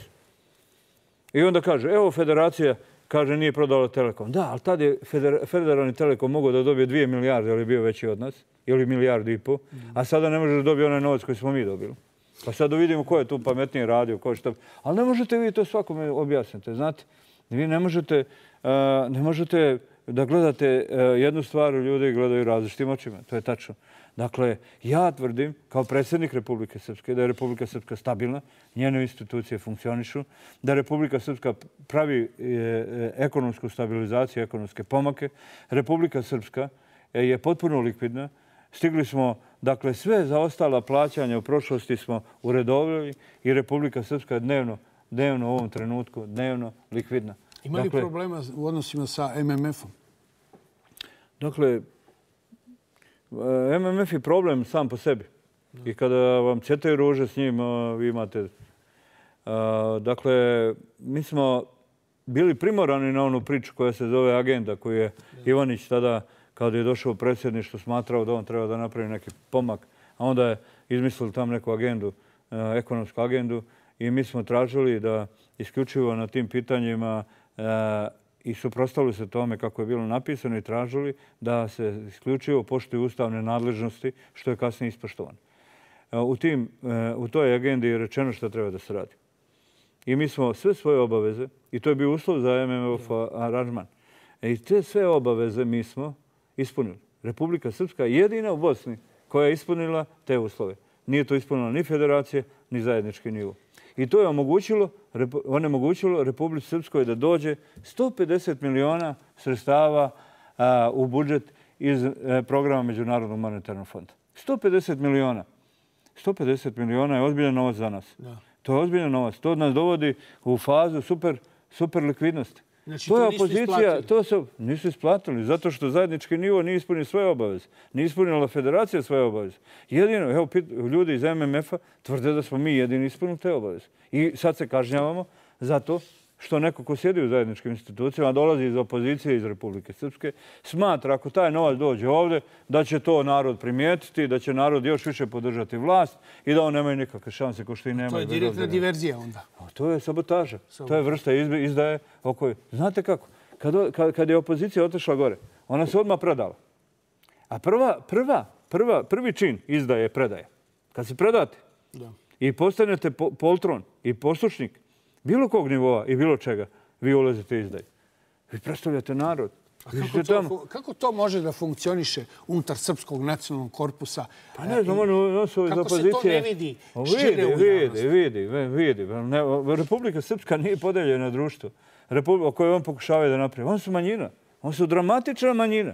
I onda kaže, evo federacija, kaže, nije prodala Telekom. Da, ali tad je federalni Telekom mogao da dobije dvije milijarde, ali je bio veći od nas, ili milijardu i po, a sada ne može da dobije onaj novac koji smo mi dobili. Pa sad da vidimo ko je tu pametnije radio, ko je šta... Ali ne možete vi to svakome objasniti, znate. Vi ne možete, ne možete da gledate jednu stvar, ljudi gledaju različitim očima. To je tačno. Dakle, ja tvrdim, kao predsjednik Republike Srpske, da je Republika Srpska stabilna, njene institucije funkcionišu, da Republika Srpska pravi ekonomsku stabilizaciju, ekonomske pomake. Republika Srpska je potpuno likvidna. Stigli smo, dakle, sve zaostala plaćanja u prošlosti smo uredovili i Republika Srpska je dnevno, dnevno u ovom trenutku, dnevno likvidna. Ima li problema u odnosima sa M M F-om? Dakle, M M F je problem sam po sebi. I kada vam cvjetaju ruže s njim, vi imate... Dakle, mi smo bili primorani na onu priču koja se zove agenda, koju je Ivanić tada, kada je došao u predsjedništvo, smatrao da on treba da napravi neki pomak. A onda je izmislili tam neku agendu, ekonomsku agendu. I mi smo tražili da isključivo na tim pitanjima i suprotstavili se tome kako je bilo napisano i tražili da se isključivo poštuju ustavne nadležnosti, što je kasnije ispoštovano. U, tim, u toj agendi je rečeno što treba da se radi. I mi smo sve svoje obaveze, i to je bio uslov za M M F aranžman, i te sve obaveze mi smo ispunili. Republika Srpska je jedina u Bosni koja je ispunila te uslove. Nije to ispunila ni federacije, ni zajednički nivo. I to je omogućilo, onemogućilo Republici Srpskoj da dođe sto pedeset miliona sredstava a, u budžet iz a, programa Međunarodnog monetarnog fonda. sto pedeset miliona. sto pedeset miliona je ozbiljan novac za nas. Da. To je ozbiljan novac. To nas dovodi u fazu super, super likvidnosti. Znači, to, to je nisu opozicija, isplatili? To su, nisu isplatili, zato što zajednički nivo nije ispunio svoje obaveze. Nije ispunila federacija svoje obaveze. Jedino, evo, ljudi iz M M F-a tvrde da smo mi jedini ispunili te obaveze. I sad se kažnjavamo zato što neko ko sjedi u zajedničkim institucijama, dolazi iz opozicije iz Republike Srpske, smatra ako taj novac dođe ovdje, da će to narod primijetiti, da će narod još više podržati vlast i da on nemaju nikakve šanse ko što i nema. To je direktna diverzija onda. To je sabotaža. To je vrsta izdaje. Znate kako? Kad je opozicija otišla gore, ona se odmah predala. A prva, prva, prva, prvi čin izdaje je predaje. Kad se predate i postanete poltron i poslušnik bilo kog nivoa i bilo čega, vi ulazite izdaj. Vi predstavljate narod. A kako, to, kako to može da funkcioniše unutar Srpskog nacionalnog korpusa? Pa ne znam, ono su iz opozicije... Kako se to ne vidi šire u javnosti? Vidi, vidi, vidi. Republika Srpska nije podeljena društvo o kojoj on pokušavaju da napravi. Oni su manjina. Oni su dramatična manjina.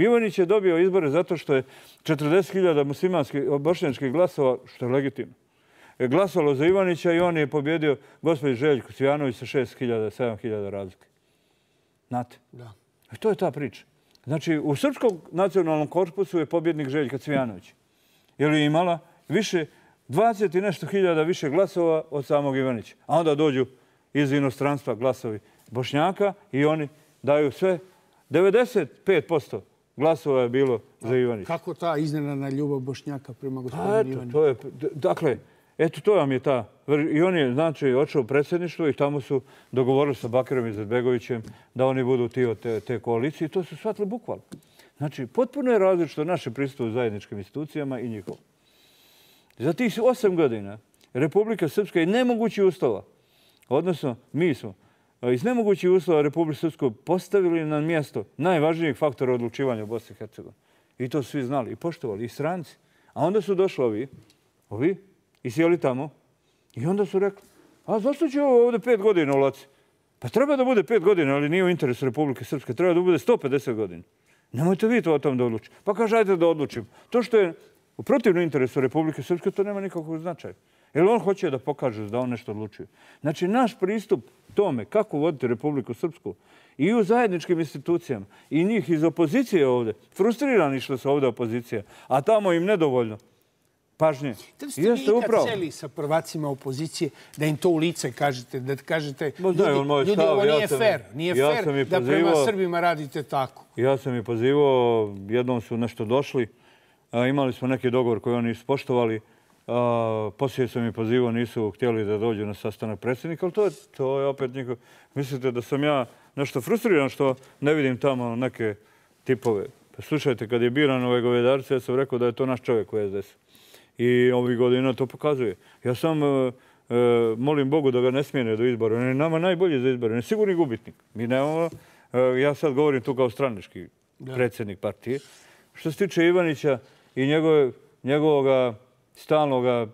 Ivanić je dobio izbore zato što je četrdeset hiljada muslimanskih, bošnjačkih glasova, što je legitimno, je glasalo za Ivanića i on je pobjedio gospođu Željku Cvijanović sa šest hiljada, sedam hiljada razlike. Znate? Da. I to je ta priča. Znači, u Srpskom nacionalnom korpusu je pobjednik Željka Cvijanović. Jer je imala više, dvadeset i nešto hiljada više glasova od samog Ivanića. A onda dođu iz inostranstva glasovi Bošnjaka i oni daju sve. devedeset pet posto glasova je bilo za Ivanića. Kako ta iznenadna ljubav Bošnjaka prema gospodinu Ivaniću? Dakle, eto, to vam je ta. I on je, znači, odšao u predsjedništvo i tamo su dogovorili sa Bakirom Izetbegovićem da oni budu ti od te, te koalicije. I to su shvatili bukvalno. Znači, potpuno je različito naše pristup u zajedničkim institucijama i njihovo. Za tih osam godina Republika Srpska je nemogući uslova. Odnosno, mi smo iz nemogućih uslova Republike Srpske postavili na mjesto najvažnijeg faktora odlučivanja u Bosni i Hercegovini. I to svi znali i poštovali, i stranci. A onda su došli ovi, ovi, i sjeli tamo i onda su rekli, a zašto će ovo ovdje pet godina u Laci? Pa treba da bude pet godina, ali nije u interesu Republike Srpske. Treba da bude sto pedeset godina. Nemojte vi to o tom da odlučite. Pa kaže, ajde da odlučimo. To što je u protivnom interesu Republike Srpske, to nema nikakvog značaja. Jer on hoće da pokaže da on nešto odlučuje. Znači, naš pristup tome kako voditi Republiku Srpsku i u zajedničkim institucijama i njih iz opozicije ovdje, frustrirani što su ovdje opozicija, a tamo im nedovoljno pažnje. Da li ste vi ikad sjeli sa prvacima opozicije da im to u lice kažete, da kažete, ljudi, ljudi ovo nije fair, nije fair da prema Srbima radite tako? Ja sam ih pozivao, jednom su nešto došli, imali smo neki dogovor koji oni ispoštovali, poslije sam ih pozivao, nisu htjeli da dođu na sastanak predsjednika, ali to je, to je opet njihov. Mislite da sam ja nešto frustriran što ne vidim tamo neke tipove. Pa slušajte, kad je biran ove govedarice, ja sam rekao da je to naš čovjek u S D S-u. I ovih godina to pokazuje. Ja sam molim Bogu da ga ne smijene do izbora. On je nama najbolji za izbore. On je sigurni gubitnik. Mi nemamo, ja sad govorim tu kao stranački predsjednik partije. Što se tiče Ivanića i njegovog stalnog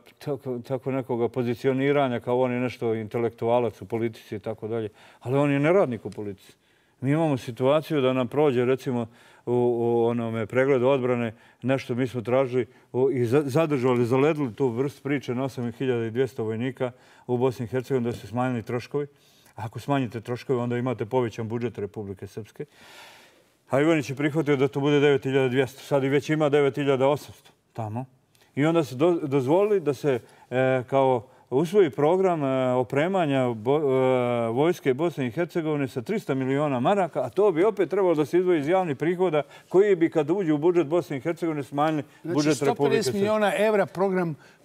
tako nekoga pozicioniranja kao on je nešto intelektualac u politici i tako dalje. Ali on je neradnik u politici. Mi imamo situaciju da nam prođe, recimo, u onome pregledu odbrane, nešto mi smo tražili i zadržali, zaledili tu vrst priče na osam hiljada dvjesto vojnika u Bosni i Hercegovini da su smanjili troškovi. Ako smanjite troškove, onda imate povećan budžet Republike Srpske. A Ivanić je prihvatio da to bude devet hiljada dvjesto. Sad i već ima devet hiljada osamsto tamo. I onda se dozvolili da se kao usvoji program opremanja vojske Bosne i Hercegovine sa trista miliona maraka, a to bi opet trebalo da se izdvoji iz javnih prihoda koji bi kad uđu u budžet Bosne i Hercegovine smanjili budžet Republike Srpske. Znači sto pedeset miliona evra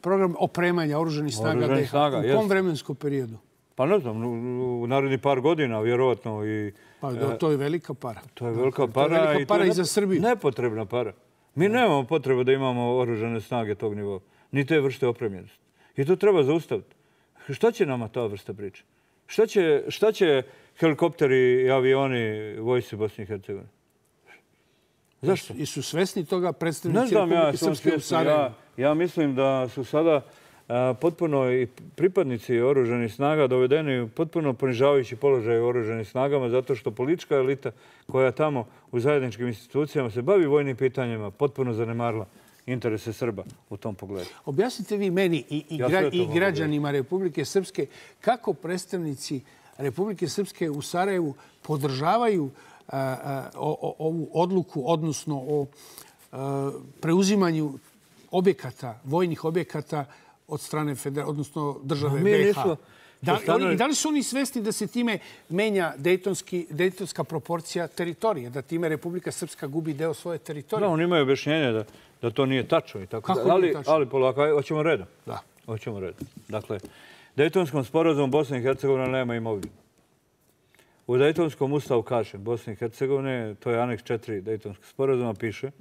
program opremanja oružanih snaga D H. U kom vremenskom periodu? Pa ne znam, u naredni par godina, vjerovatno. Pa to je velika para. To je velika para. To je velika para i za Srbiju. Nepotrebna para. Mi nemamo potrebu da imamo oružane snage tog nivoa, ni te vrste opremljenosti. I to treba zaustaviti. Šta će nama ta vrsta priče? Šta će helikopteri i avioni vojsci Bosne i Hercegovine? Zašto? I su svesni toga predstavnici Republike Srpske u Sarajevu? Ja mislim da su sada potpuno i pripadnici oružanih snaga dovedeni u potpuno ponižavajući položaj u oružanim snagama zato što politička elita koja tamo u zajedničkim institucijama se bavi vojnim pitanjima potpuno zanemarila interese Srba u tom pogledu. Objasnite vi meni i građanima Republike Srpske kako predstavnici Republike Srpske u Sarajevu podržavaju ovu odluku, odnosno o preuzimanju objekata, vojnih objekata od strane odnosno države B H. Da li su oni svesni da se time menja dejtonska proporcija teritorije, da time Republika Srpska gubi deo svoje teritorije? Da, oni imaju objašnjenje da to nije tačno. Kako nije tačno? Ali polako, hoćemo redom. Da. Hoćemo redom. Dakle, Dejtonskom sporazumu Bosna i Hercegovina nema imovinu. U Dejtonskom ustavu kaže Bosne i Hercegovine, to je aneks četiri Dejtonskog sporazuma, piše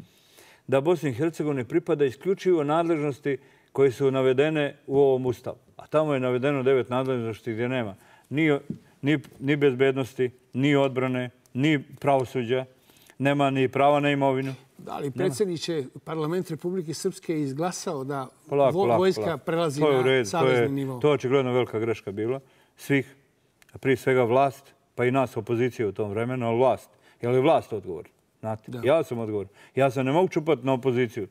da Bosni i Hercegovini pripada isključivo nadležnosti koje su navedene u ovom ustavu. A tamo je navedeno devet nadležnosti gdje nema ni bezbednosti, ni odbrane, ni pravosuđa, nema ni prava na imovinu. Da li predsjedniče parlament Republike Srpske izglasao da vojska prelazi na savezni nivo? To je očigledno velika greška bila. Svih, prije svega vlast, pa i nas opozicije u tom vremenu, ali vlast. Je li vlast odgovor? Ja sam odgovor. Ja sam ne mogu čupati na opoziciju.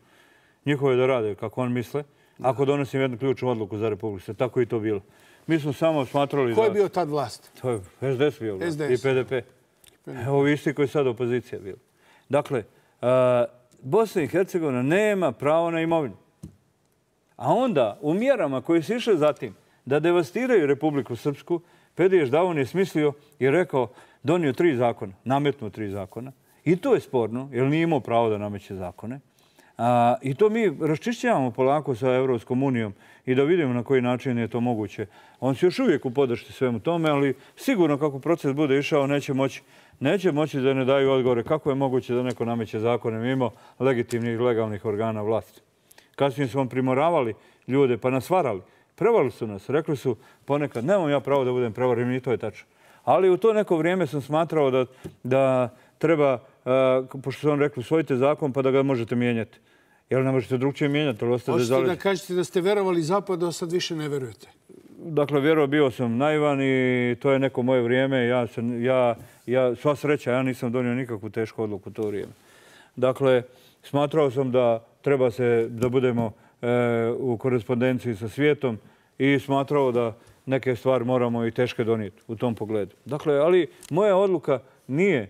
Njihove da rade kako on misle. Ako donosim jednu ključnu odluku za Republiku, tako i to bilo. Mi smo samo smatrali da... Ko je bio tad vlast? To je S D S bio vlast i P D P. Ovo isti koji je sad opozicija bila. Dakle, Bosna i Hercegovina nema pravo na imovinu. A onda, u mjerama koje su išle za tim da devastiraju Republiku Srpsku, Pediješ Davon je smislio i rekao, donio tri zakona, nametnuo tri zakona. I to je sporno, jer nije imao pravo da nameće zakone. I to mi raščišćavamo polako sa Evropskom unijom i da vidimo na koji način je to moguće. On se još uvijek u podršci svemu tome, ali sigurno kako proces bude išao neće moći neće moći da ne daju odgovore kako je moguće da neko nameće zakone mimo legitimnih i legalnih organa vlasti. Kasnije su vam primoravali ljude pa nas varali. Prevarili su nas. Rekli su ponekad, nemam ja pravo da budem prevaren i to je tačno. Ali u to neko vrijeme sam smatrao da treba, pošto su vam rekli, usvojite zakon pa da ga možete mijenjati. Jer ne možete drugčije mijenjati. Hoćete da kažete da ste verovali Zapadu, a sad više ne verujete? Dakle, vjerovao bio sam naivan i to je neko moje vrijeme. Ja, sva sreća, ja nisam donio nikakvu tešku odluku u to vrijeme. Dakle, smatrao sam da treba se, da budemo u korespondenciji sa svijetom i smatrao da neke stvari moramo i teške donijeti u tom pogledu. Dakle, ali moja odluka nije,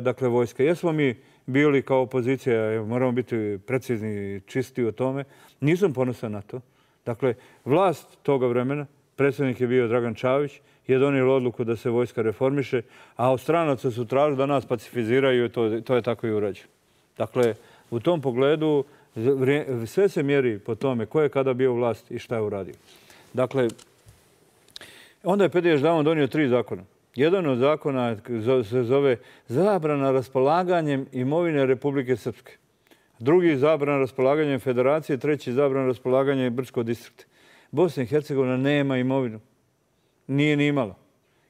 dakle, vojska. Jesmo mi bili kao opozicija, moramo biti precizni i čisti o tome. Nisam ponosan na to. Dakle, vlast toga vremena, predsjednik je bio Dragan Čavić, je donijela odluku da se vojska reformiše, a od stranaca su tražili da nas pacifiziraju i to je tako i urađeno. Dakle, u tom pogledu sve se mjeri po tome ko je kada bio vlast i šta je uradio. Dakle, onda je Pediješ Davon donio tri zakona. Jedan od zakona se zove zabrana raspolaganjem imovine Republike Srpske. drugi zabrana raspolaganja federacije, treći zabrana raspolaganja brdskog distrikta. Bosna i Hercegovina nema imovinu. Nije ni imala.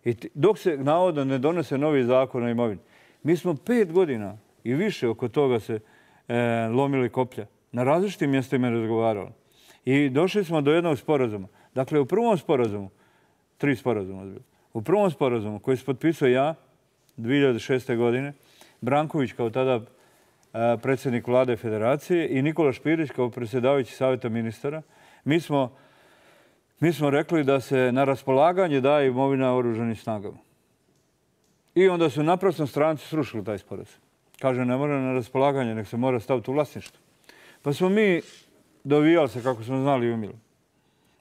I dok se navodno ne donese novi zakon o imovini, mi smo pet godina i više oko toga se e, lomili koplja. Na različitim mjestima razgovarali. I došli smo do jednog sporazuma. Dakle, u prvom sporazumu, tri sporazuma, u prvom sporazumu koji se potpisao ja dvije hiljade šeste. godine, Branković kao tada e, predsjednik vlade federacije i Nikola Špirić kao predsjedavajući savjeta ministara, mi smo, mi smo rekli da se na raspolaganje daje imovina oružanim snagama. I onda su naprasno stranci srušili taj sporazum. Kaže, ne mora na raspolaganje, nek se mora staviti u vlasništvo. Pa smo mi dovijali se, kako smo znali i umjeli,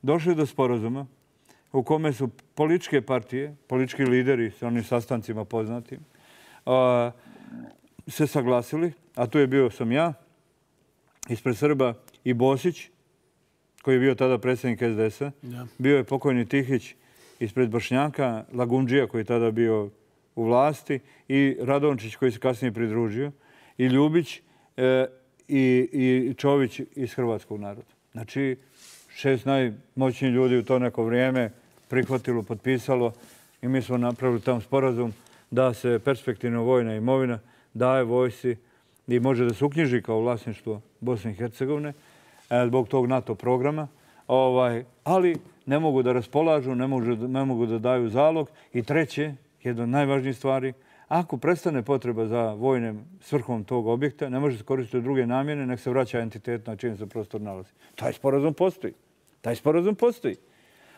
došli do sporazuma u kome su političke partije, politički lideri sa onim sastancima poznatim, a, se saglasili, a tu je bio sam ja, ispred Srba i Bosić, koji je bio tada predsjednik es de es a, ja. Bio je pokojni Tihić ispred Bošnjaka, Lagundžija koji je tada bio u vlasti i Radončić koji se kasnije pridružio i Ljubić e, i, i Čović iz hrvatskog naroda. Znači, šest najmoćnijih ljudi u to neko vrijeme prihvatilo, potpisalo i mi smo napravili tam sporazum da se perspektivna vojna imovina daje vojsci i može da se uknjiži kao vlasništvo Bosne i Hercegovine e, zbog tog NATO programa. Ovaj, ali ne mogu da raspolažu, ne mogu, ne mogu da daju zalog. I treće, jedna od najvažnijih stvari, ako prestane potreba za vojnim svrhom tog objekta, ne može se koristiti u druge namjene, nek se vraća entitet na čijem se prostor nalazi. Taj sporazum postoji. Taj sporazum postoji.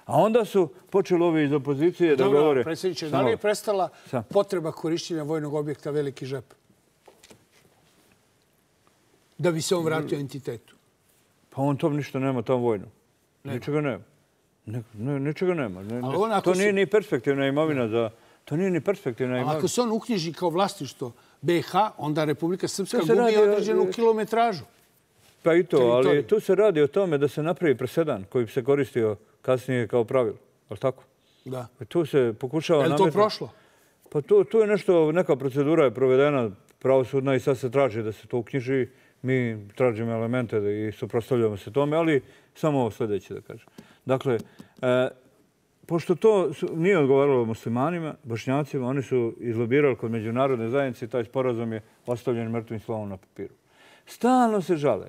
A onda su počeli ovi iz opozicije da Dobro, govore... Dobro, predsjedniče, da li je prestala Sam. potreba korišćenja vojnog objekta Veliki žep? Da bi se on vratio entitetu? Pa on tom ništa nema, tom vojno. Nema. Ničega nema. Ne, ne, ničega nema. Ne, ne, to nije su... ni perspektivna imovina za... To nije ni perspektivna imovina. Ako se on uknjiži kao vlasništvo be ha, onda Republika Srpska gubi radi, određenu kilometražu. Pa i to, ali tu se radi o tome da se napravi presedan koji bi se koristio kasnije kao pravilo. Ali tako? Da. Tu se pokušava... Je li to prošlo? Pa tu, tu je nešto, neka procedura je provedena pravosudna i sad se traži da se to uknjiži. Mi tražimo elemente i suprotstavljamo se tome, ali samo ovo sljedeće da kažem. Dakle, e, pošto to su, nije odgovaralo muslimanima, bošnjacima, oni su izlobirali kod međunarodne zajednice i taj sporazum je ostavljen mrtvim slovom na papiru. Stalno se žale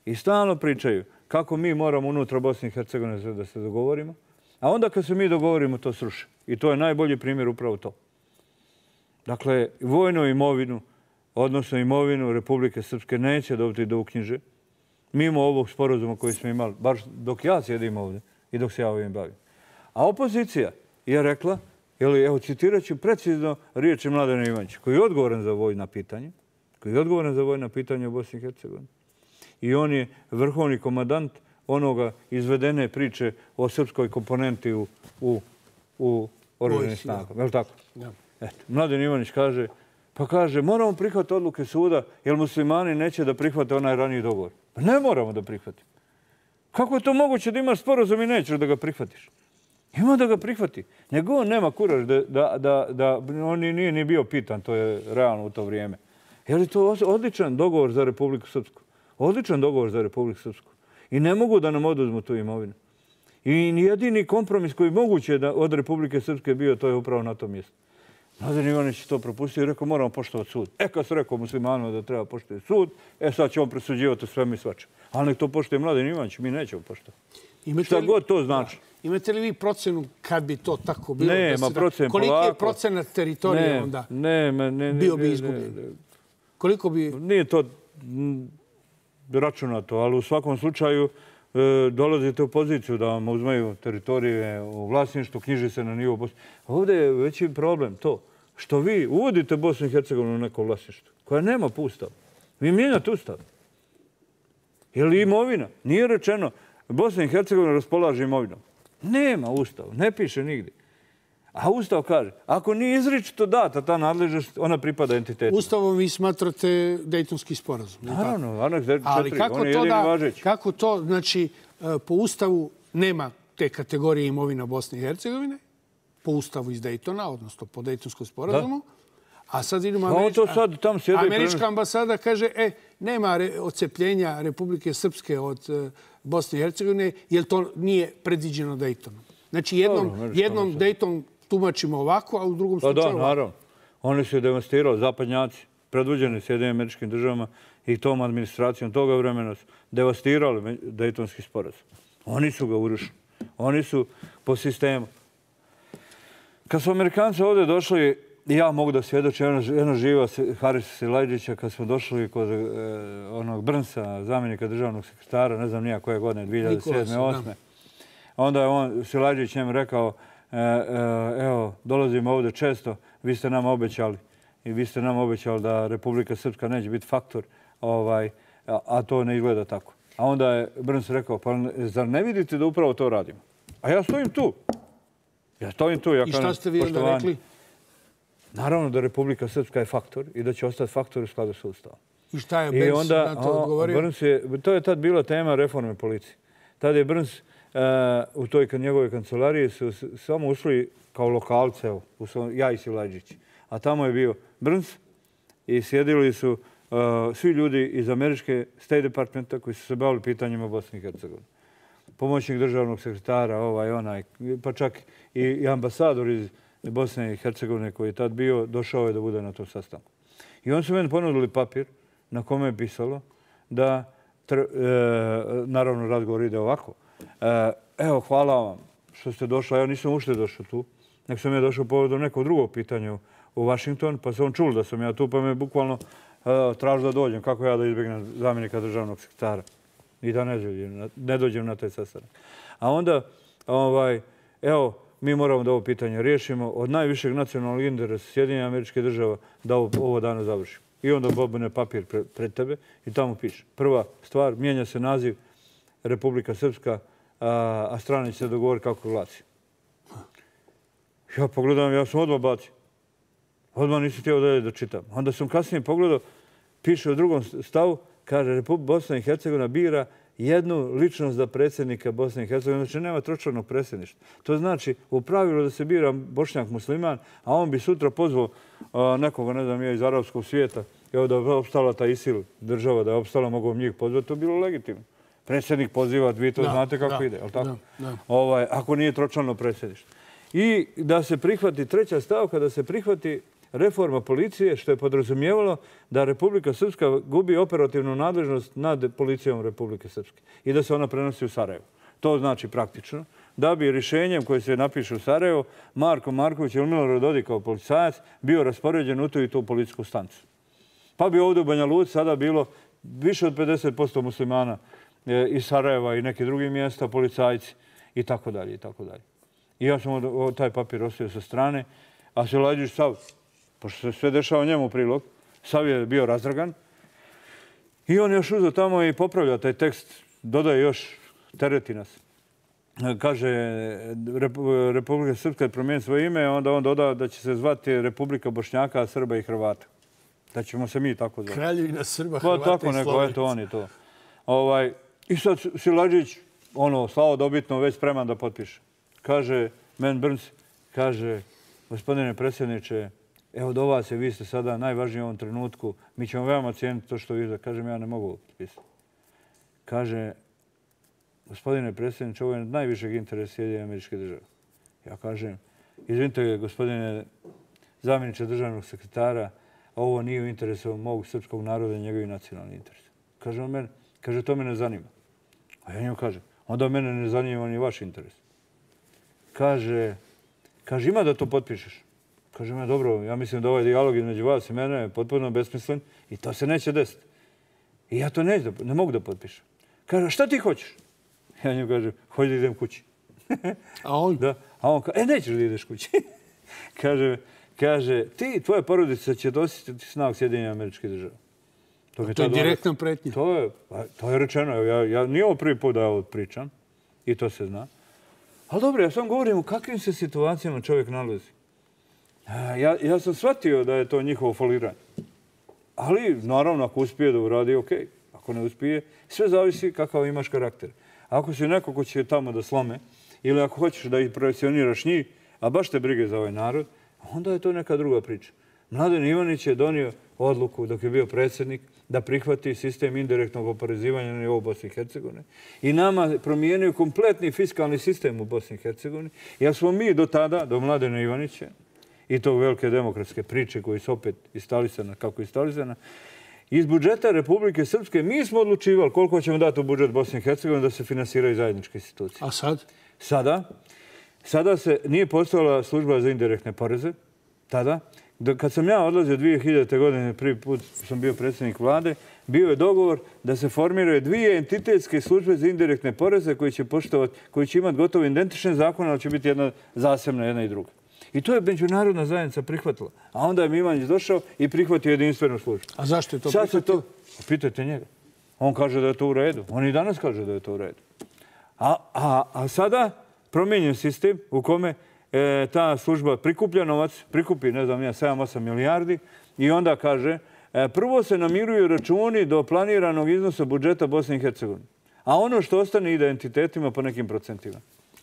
i stalno pričaju kako mi moramo unutra Bosne i Hercegovine da se dogovorimo, a onda kad se mi dogovorimo to sruše. I to je najbolji primjer upravo to. Dakle, vojnu imovinu, odnosno imovinu Republike Srpske neće dobiti do uknjiže, mimo ovog sporazuma koji smo imali, baš dok ja sjedim ovdje i dok se ja ovim bavim. A opozicija je rekla, jeli, evo citirat ću precizno riječi Mladena Ivanića, koji je odgovoran za vojna pitanja, koji je odgovoran za vojna pitanja u Bosni i Hercegovini. I on je vrhovni komandant onoga izvedene priče o srpskoj komponenti u, u, u oružanim snagama. Je li tako? Ja. Eto, Mladen Ivanić kaže, pa kaže, moramo prihvatiti odluke suda, jer muslimani neće da prihvate onaj raniji dogovor. Pa ne moramo da prihvatimo. Kako je to moguće da imaš sporazum i nećeš da ga prihvatiš? Ima da ga prihvati. Nego on nema kuraž da, da, da, da on nije ni bio pitan, to je realno u to vrijeme. Je li to odličan dogovor za Republiku Srpsku? Odličan dogovor za Republiku Srpsku. I ne mogu da nam oduzmu tu imovinu. I jedini kompromis koji moguće da od Republike Srpske bio, to je upravo na tom mjestu. Mladen Ivanić je to propustio i rekao, moramo poštovati sud. E, kad se rekao muslimanima da treba poštovati sud, e, sad će on presuđivati sve mi svačem. Ali nek to poštuje Mladen Ivanić, mi nećemo poštovati. Šta god to znači. Da. Imate li vi procenu kad bi to tako bilo? Ne, ma procen polako. Koliki je procenat teritorije ne, onda ne, ne, ne, bio bi izgubljen? Ne, ne. Koliko bi... Nije to računato, ali u svakom slučaju e, dolazite u poziciju da vam uzmaju teritorije u vlasništvu, knjiži se na nivo Bosne. Ovdje je veći problem to što vi uvodite Bosnu i Hercegovinu u neko vlasništvo koja nema ustav. Vi mijenjate ustav. Je li imovina? Nije rečeno Bosna i Hercegovina raspolaže imovinom. Nema ustav, ne piše nigdje. A ustav kaže, ako nije izričito data ta nadležnost, ona pripada entitetu. Ustavom vi smatrate Dejtonski sporazum. Naravno, aneks četiri, ali kako on je to jedini da, važeći. kako to, znači, po ustavu nema te kategorije imovina Bosne i Hercegovine, po ustavu iz Dejtona, odnosno po Dejtonskom sporazumu, da. A sad vidimo, američka, sad, tam američka ambasada kaže, e, nema odcepljenja Republike Srpske od Bosne i Hercegovine, jer to nije predviđeno Daytonom. Znači, jednom Dayton tumačimo ovako, a u drugom slučaju ovako. Da, naravno. Oni su devastirali, zapadnjaci, predvođeni Sjedinjenim Američkim Državama i tom administracijom toga vremena su devastirali Daytonski sporazum. Oni su ga urušili. Oni su po sistemu. Kad su Amerikanci ovdje došli, ja mogu da svjedočim, jedno živa Harisa Silajdžića, kad smo došli kod onog Brnsa, zamjenika državnog sekretara, ne znam nija koje godine, dvije hiljade sedme osme. Onda je on, Silajdžić, njemu rekao, evo, dolazimo ovdje često, vi ste nam obećali i vi ste nam obećali da Republika Srpska neće biti faktor, a to ne izgleda tako. A onda je Brns rekao, pa zar ne vidite da upravo to radimo? A ja stojim tu. Ja stojim tu. I šta ste vi onda rekli? Naravno da Republika Srpska je faktor i da će ostati faktor u skladu s Ustavom. I šta je Brns na to odgovorio? To je tad bila tema reforme policije. Tad je Brns u toj njegove kancelariji su samo ušli kao lokalce, ja i Silajdžić. A tamo je bio Brns i sjedili su svi ljudi iz američke State Departmenta koji su se bavili pitanjima Bosne i Hercegovine. Pomoćnik državnog sekretara, ovaj, onaj, pa čak i ambasador iz Bosne i Hercegovine koji je tad bio, došao je da bude na tom sastanku. I oni su meni ponudili papir na kome je pisalo da, naravno, razgovor ide ovako. Evo, hvala vam što ste došli. Ja nisam ušte došao tu, nek sam ja došao povodom nekog drugog pitanja u Washington, pa sam čul da sam ja tu, pa me bukvalno tražio da dođem. Kako ja da izbjegnem zamjenika državnog sekretara i da ne dođem na taj sastanak. A onda, evo, mi moramo da ovo pitanje riješimo od najvišeg nacionalnog interesa Sjedinjenih Američkih Država da ovo dana završimo. I onda bobne papir pred tebe i tamo piše. Prva stvar, mijenja se naziv Republika Srpska, a strane će se dogovoriti kako glasi. Ja pogledam, ja sam odmah bacio. Odmah nisam htio dalje da čitam. Onda sam kasnije pogledao, piše u drugom stavu, kaže Bosna i Hercegovina bira jednu ličnost za predsjednika Bosne i Hercegovine. Znači, nema tročlanog predsjedništva. To znači u pravilu da se bira Bošnjak musliman, a on bi sutra pozvao nekoga, ne znam, ja iz arapskog svijeta, evo da je opstala ta ISIL država, da je opstala, mogu njih pozvati, to je bilo legitimno. Predsjednik poziva, vi to znate kako ide, je li tako? Ako nije tročlano predsjedništvo. I da se prihvati treća stavka, da se prihvati reforma policije, što je podrazumijevalo da Republika Srpska gubi operativnu nadležnost nad policijom Republike Srpske i da se ona prenosi u Sarajevo. To znači praktično da bi rješenjem koje se napiše u Sarajevo Marko Marković ili Milorad Dodik kao policajac bio raspoređen u tu i tu policijsku stancu. Pa bi ovdje u Banja Luci sada bilo više od pedeset posto muslimana iz Sarajeva i nekih drugih mjesta, policajci i tako dalje i tako dalje. I ja sam taj papir ostavio sa strane, a Silajdžić sav, pošto se sve dešava njemu u prilog, sav je bio razdragan. I on još uzeo tamo i popravlja taj tekst, dodaje još, tereti nas. Kaže, Republika Srpska je promijenila svoje ime, onda on doda da će se zvati Republika Bošnjaka, Srba i Hrvata. Da ćemo se mi tako zvati. Kraljevina Srba, Hrvata i Slovenaca. Tako neko, eto on je to. I sad Silajdžić, ono, slavodobitno, već spreman da potpiše. Kaže, men Brns, kaže, gospodine predsjedniče, evo do vas je, vi ste sada najvažniji u ovom trenutku, mi ćemo veoma cijeniti to što vi da kažem, ja ne mogu potpisati. Kaže, gospodine predsjedniče, ovo je najvišeg interesa Sjedinjenih Američkih Država. Ja kažem, izvinite, gospodine zamjeniče državnog sekretara, ovo nije u interesu mog srpskog naroda i njegovih nacionalnih interesa. Kaže on mene, kaže, to me ne zanima. A ja njemu kažem, onda mene ne zanima ni vaš interes. Kaže, kaže, ima da to potpišeš. Kaže me, dobro, ja mislim da ovaj dijalog između vas i mene je potpuno besmislen i to se neće desiti. I ja to ne, ne mogu da potpišem. Kaže, šta ti hoćeš? Ja njemu kažem, hoću da idem kući. A on? Da. A on kaže, e, nećeš da ideš kući. kaže, kaže, ti, tvoja porodica će dosjetiti snag Sjedinjenih Američkih Država. To, to je direktna pretnja. To je, to je rečeno. Ja, ja, nije ovo prvi put da ja ovo pričam i to se zna. Ali dobro, ja sam govorim u kakvim se situacijama čovjek nalazi. Ja, ja sam shvatio da je to njihovo foliranje. Ali, naravno, ako uspije da uradi, ok. Ako ne uspije, sve zavisi kakav imaš karakter. Ako si neko ko će tamo da slome, ili ako hoćeš da ih projekcioniraš njih, a baš te brige za ovaj narod, onda je to neka druga priča. Mladen Ivanić je donio odluku dok je bio predsjednik da prihvati sistem indirektnog oporezivanja na nivou Bosne i Hercegovine i nama promijenio kompletni fiskalni sistem u Bosni i Hercegovini, jer smo mi do tada, do Mladena Ivanića i tog velike demokratske priče koji su opet instalisana kako je instalisana, iz budžeta Republike Srpske mi smo odlučivali koliko ćemo dati u budžet Bosne i Hercegovine da se finansiraju zajedničke institucije. A sad? Sada? Sada se nije postojala služba za indirektne poreze, tada. Kad sam ja odlazio dvije hiljadite. godine, prvi put sam bio predsjednik vlade, bio je dogovor da se formiraju dvije entitetske službe za indirektne poreze koji će poštovati, koji će imati gotovo identične zakone, ali će biti jedna zasebna, jedna i druga. I to je međunarodna zajednica prihvatila. A onda je Milanić došao i prihvatio jedinstvenu službu. A zašto je to Sad prihvatio? To... Pitajte njega. On kaže da je to u redu. On i danas kaže da je to u redu. A, a, a sada promijenjen sistem u kome e, ta služba prikuplja novac, prikupi, ne znam, sedam osam milijardi i onda kaže e, prvo se namiruju računi do planiranog iznosa budžeta Bosne i Hercegovine. A ono što ostane ide entitetima po nekim procentima.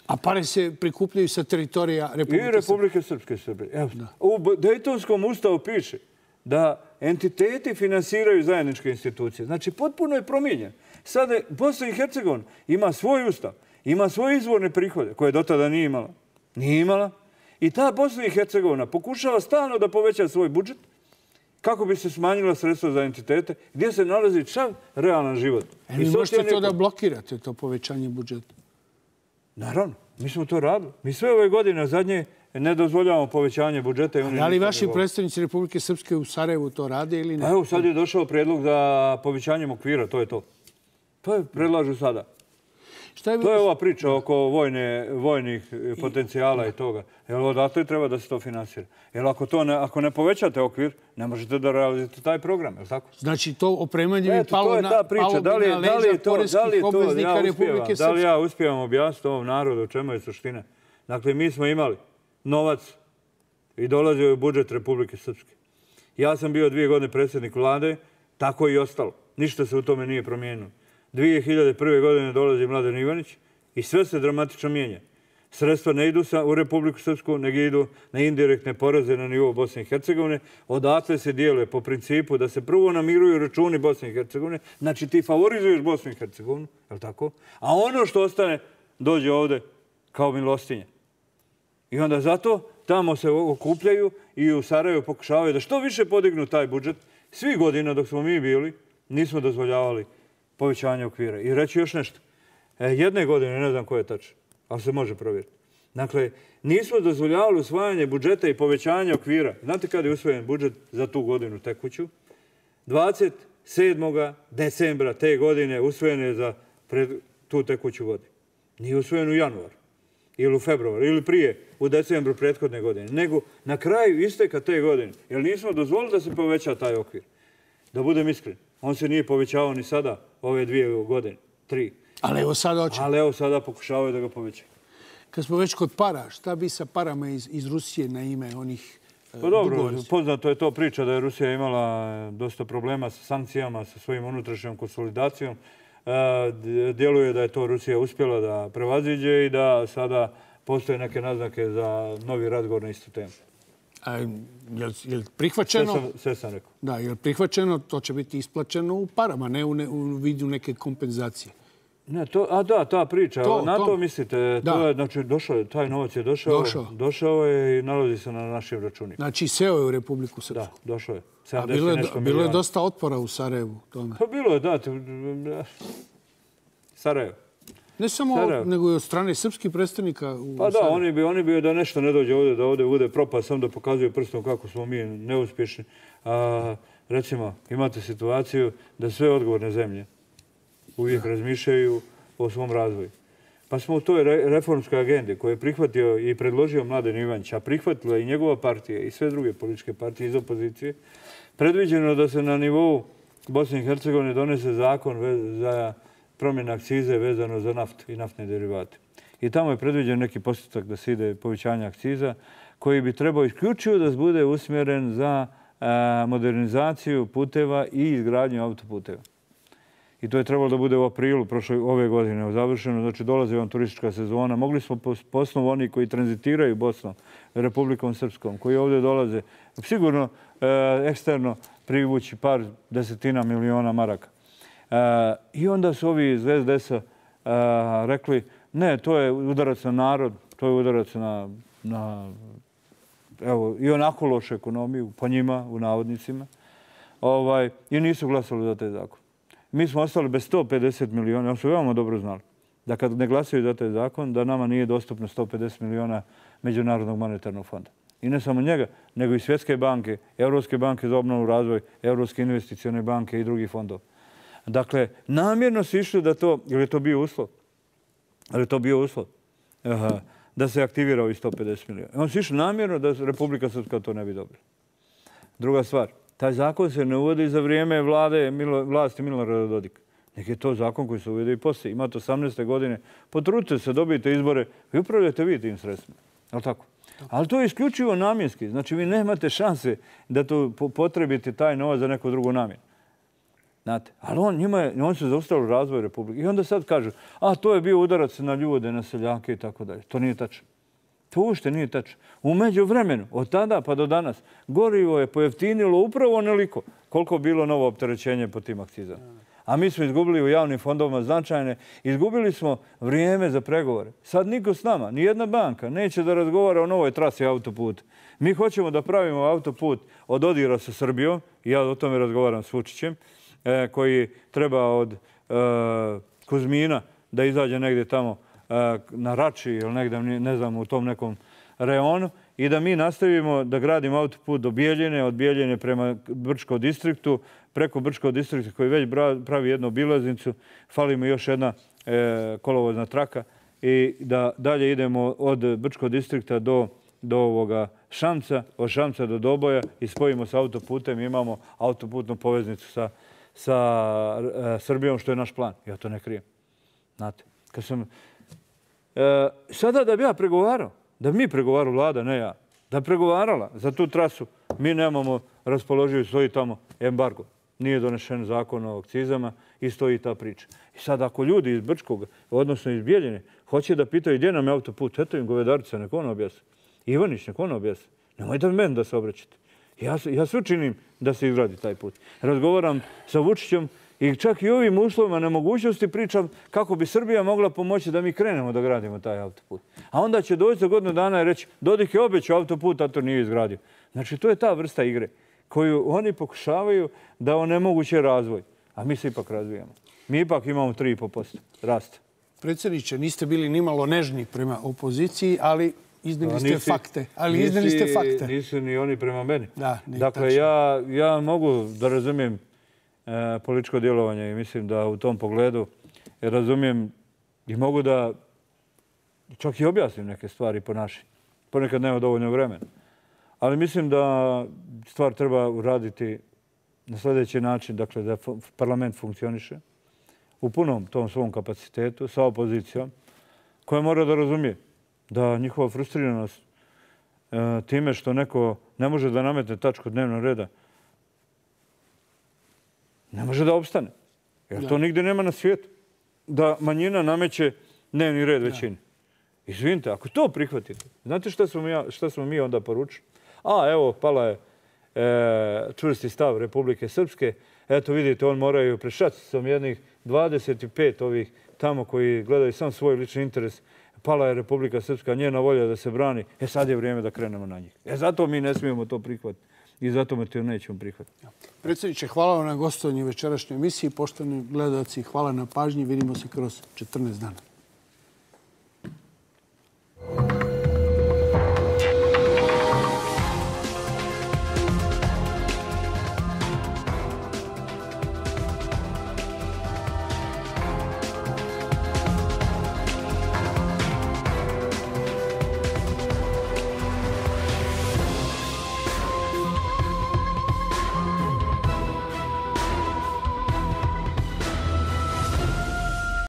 A pare se prikupljaju sa teritorija Republike Srpske. I Republike Srpske Srbije. Evo, u Dejtonskom ustavu piše da entiteti finansiraju zajedničke institucije. Znači, potpuno je promijenjen. Sada Bosna i Hercegovina ima svoj ustav, ima svoje izvorne prihode koje do tada nije imala. Nije imala. I ta Bosna i Hercegovina pokušava stalno da poveća svoj budžet kako bi se smanjila sredstva za entitete, gdje se nalazi čav realan život. E, vi možete to da blokirate, to povećanje budžeta? Naravno, mi smo to radili. Mi sve ove godine zadnje ne dozvoljavamo povećanje budžeta. Da li vaši predstavnici Republike Srpske u Sarajevu to rade ili ne? Evo, sad je došao predlog za povećanjem okvira, to je to. To je predlažu sada. To je ova priča oko vojnih potencijala i toga. Jer odatle treba da se to finansira. Jer ako ne povećate okvir, ne možete da realizujete taj program, je li tako? Znači to opremanje bi palo na leđa poreskih obveznika Republike Srpske. Da li ja uspijevam objasniti ovom narodu o čemu je suština? Dakle, mi smo imali novac i dolazio je u budžet Republike Srpske. Ja sam bio dvije godine predsjednik vlade, tako i ostalo. Ništa se u tome nije promijenilo. dvije hiljade prve. godine dolazi Mladen Ivanić i sve se dramatično mijenja. Sredstva ne idu u Republiku Srpsku, nego idu na indirektne poreze na nivou Bosne i Hercegovine. Odatle se dijele po principu da se prvo namiruju računi Bosne i Hercegovine. Znači ti favorizuješ Bosnu i Hercegovinu, je li tako? A ono što ostane dođe ovde kao milostinje. I onda zato tamo se okupljaju i u Sarajevu pokušavaju da što više podignu taj budžet. Svi godina dok smo mi bili nismo dozvoljavali povećanje okvira. I reći još nešto. Jedne godine, ne znam koje je tačno, ali se može provjeriti. Dakle, nismo dozvoljavali usvajanje budžeta i povećanje okvira. Znate kada je usvojen budžet za tu godinu tekuću? dvadeset sedmog decembra te godine usvojen je za tu tekuću godinu. Nije usvojen u januaru ili u februaru ili prije u decembru prethodne godine, nego na kraju isteka te godine. Jer nismo dozvolili da se poveća taj okvir. Da budem iskren, on se nije povećavao ni sada ove dvije godine, tri. Ali evo sada hoće. Ali evo sada pokušavaju da ga povećaju. Kad smo već kod para, šta bi sa parama iz, iz Rusije na ime onih e, Pa dobro, poznato je to priča da je Rusija imala dosta problema sa sankcijama, sa svojim unutrašnjom konsolidacijom. E, djeluje da je to Rusija uspjela da prevaziđe i da sada postoje neke naznake za novi razgovor na istu temu. A je li prihvaćeno? Sve sam, sve sam rekao. Da, je li prihvaćeno, to će biti isplaćeno u parama, ne u, ne, u vidu neke kompenzacije. Ne, to, a da, ta priča, to, na to, to mislite, to je, znači, došao je, taj novac je došao, došao. došao je i nalazi se na našim računima. Znači, seo je u Republiku Srpsku. Da, došao je. A bilo je, bilo je dosta otpora u Sarajevu tome. Pa bilo je, da. Sarajevo. Ne samo, Sarajevo. Nego i od strane srpskih predstavnika u Pa da, Sarajevo. oni bi, oni bi da nešto ne dođe ovdje, da ovdje bude propast, samo da pokazuju prstom kako smo mi neuspješni. A, recimo, imate situaciju da sve odgovorne zemlje uvijek razmišljaju o svom razvoju. Pa smo u toj reformskoj agendi koju je prihvatio i predložio Mladen Ivanić, a prihvatila i njegova partija i sve druge političke partije iz opozicije, predviđeno da se na nivou Bosne i Hercegovine donese zakon za promjene akcize vezano za naftu i naftne derivate. I tamo je predviđen neki postotak da se ide povećanje akciza koji bi trebao isključivo da bude usmjeren za modernizaciju puteva i izgradnju autoputeva. I to je trebalo da bude u aprilu prošle ove godine završeno. Znači, dolazi vam turistička sezona. Mogli smo po osnovu oni koji tranzitiraju Bosnom, Republikom Srpskom, koji ovdje dolaze, sigurno eksterno privući par desetina miliona maraka. I onda su ovi iz es de es-a rekli ne, to je udarac na narod, to je udarac na, na evo, i onako lošu ekonomiju, po njima, u navodnicima, ovaj, i nisu glasali za taj zakon. Mi smo ostali bez sto pedeset miliona, oni su veoma dobro znali da kad ne glasaju za taj zakon, da nama nije dostupno sto pedeset miliona Međunarodnog monetarnog fonda. I ne samo njega, nego i Svjetske banke, Evropske banke za obnovu i razvoj, Evropske investicione banke i drugih fondova. Dakle, namjerno su išli da to, jer je to bio uslov, ali je to bio uslov, aha, da se aktivira ovih sto pedeset miliona. On su išli namjerno da Republika Srpska to ne bi dobila. Druga stvar, taj zakon se ne uvodi za vrijeme vlade, vlasti Milorada Dodika. Nek je to zakon koji se uvede i poslije. Imate osamnaeste godine, potrudite se, dobijete izbore i upravljate vi tim sredstvima. Je li tako? Ali to je isključivo namjenski. Znači, vi nemate šanse da to potrebite taj novac za neku drugu namjenu. Znate, ali on, njima je, on se zaustavio razvoj Republike. I onda sad kažu, a to je bio udarac na ljude, na seljake i tako dalje. To nije tačno. To uopšte nije tačno. U međuvremenu, od tada pa do danas, gorivo je pojeftinilo upravo onoliko koliko bilo novo opterećenje po tim akcizama. A mi smo izgubili u javnim fondovima značajne, izgubili smo vrijeme za pregovore. Sad niko s nama, ni jedna banka, neće da razgovara o novoj trasi autoputa. Mi hoćemo da pravimo autoput od Odira sa Srbijom, i ja o tome razgovaram s Vučićem, koji treba od Kuzmina da izađe negdje tamo na Rači ili negdje, ne znam, u tom nekom reonu, i da mi nastavimo da gradimo autoput do Bijeljine, od Bijeljine prema Brčko distriktu, preko Brčko distrikta koji već pravi jednu obilaznicu, fali mu još jedna kolovozna traka, i da dalje idemo od Brčko distrikta do, do ovoga Šamca, od Šamca do Doboja i spojimo sa autoputem, imamo autoputnu poveznicu sa, sa e, Srbijom, što je naš plan. Ja to ne krijem. Znate, kad sam... E, sada da bi ja pregovarao, da bi mi pregovarao, vlada, ne ja, da pregovarala za tu trasu, mi nemamo raspoloživi, stoji tamo embargo. Nije donešen zakon o akcizama i stoji ta priča. I sad ako ljudi iz Brčkog, odnosno iz Bijeljine, hoće da pitaju gdje nam je autoput, eto im Govedarica, neko ono objasni. Ivanić, neko ono objasni. Nemojte meni da se obraćate. Ja, ja sve činim da se izgradi taj put. Razgovaram sa Vučićem i čak i ovim uslovima nemogućnosti pričam kako bi Srbija mogla pomoći da mi krenemo da gradimo taj autoput. A onda će doći za godinu dana i reći Dodik je obećao autoput, a to nije izgradio. Znači, to je ta vrsta igre koju oni pokušavaju da onemoguće razvoj. A mi se ipak razvijamo. Mi ipak imamo tri i po posto rasta. Predsjedniče, niste bili nimalo nežni prema opoziciji, ali iznijeli ste fakte. Ali iznijeli ste fakte. Nisu ni oni prema meni. Da, dakle, ja, ja mogu da razumijem e, političko djelovanje i mislim da u tom pogledu razumijem i mogu da čak i objasnim neke stvari po našim. Ponekad nema dovoljno vremena. Ali mislim da stvar treba uraditi na sljedeći način, dakle da parlament funkcioniše u punom tom svom kapacitetu sa opozicijom koja mora da razumije da njihova frustriranost e, time što neko ne može da nametne tačku dnevnog reda ne može da opstane. Jer to nigdje nema na svijetu. Da manjina nameće dnevni red većini. Izvinite, ako to prihvatite, znate šta smo mi, šta smo mi onda poručili? A, evo, pala je e, čvrsti stav Republike Srpske. Eto, vidite, on moraju prešati sam jednih dvadeset pet ovih tamo koji gledaju sam svoj lični interes. Pala je Republika Srpska, njena volja da se brani. E, sad je vrijeme da krenemo na njih. E, zato mi ne smijemo to prihvatiti. I zato me to nećemo prihvatiti. Predsjedniče, hvala vam na gostovanju večerašnjoj emisiji. Poštovani gledalci, hvala na pažnji. Vidimo se kroz četrnaest dana.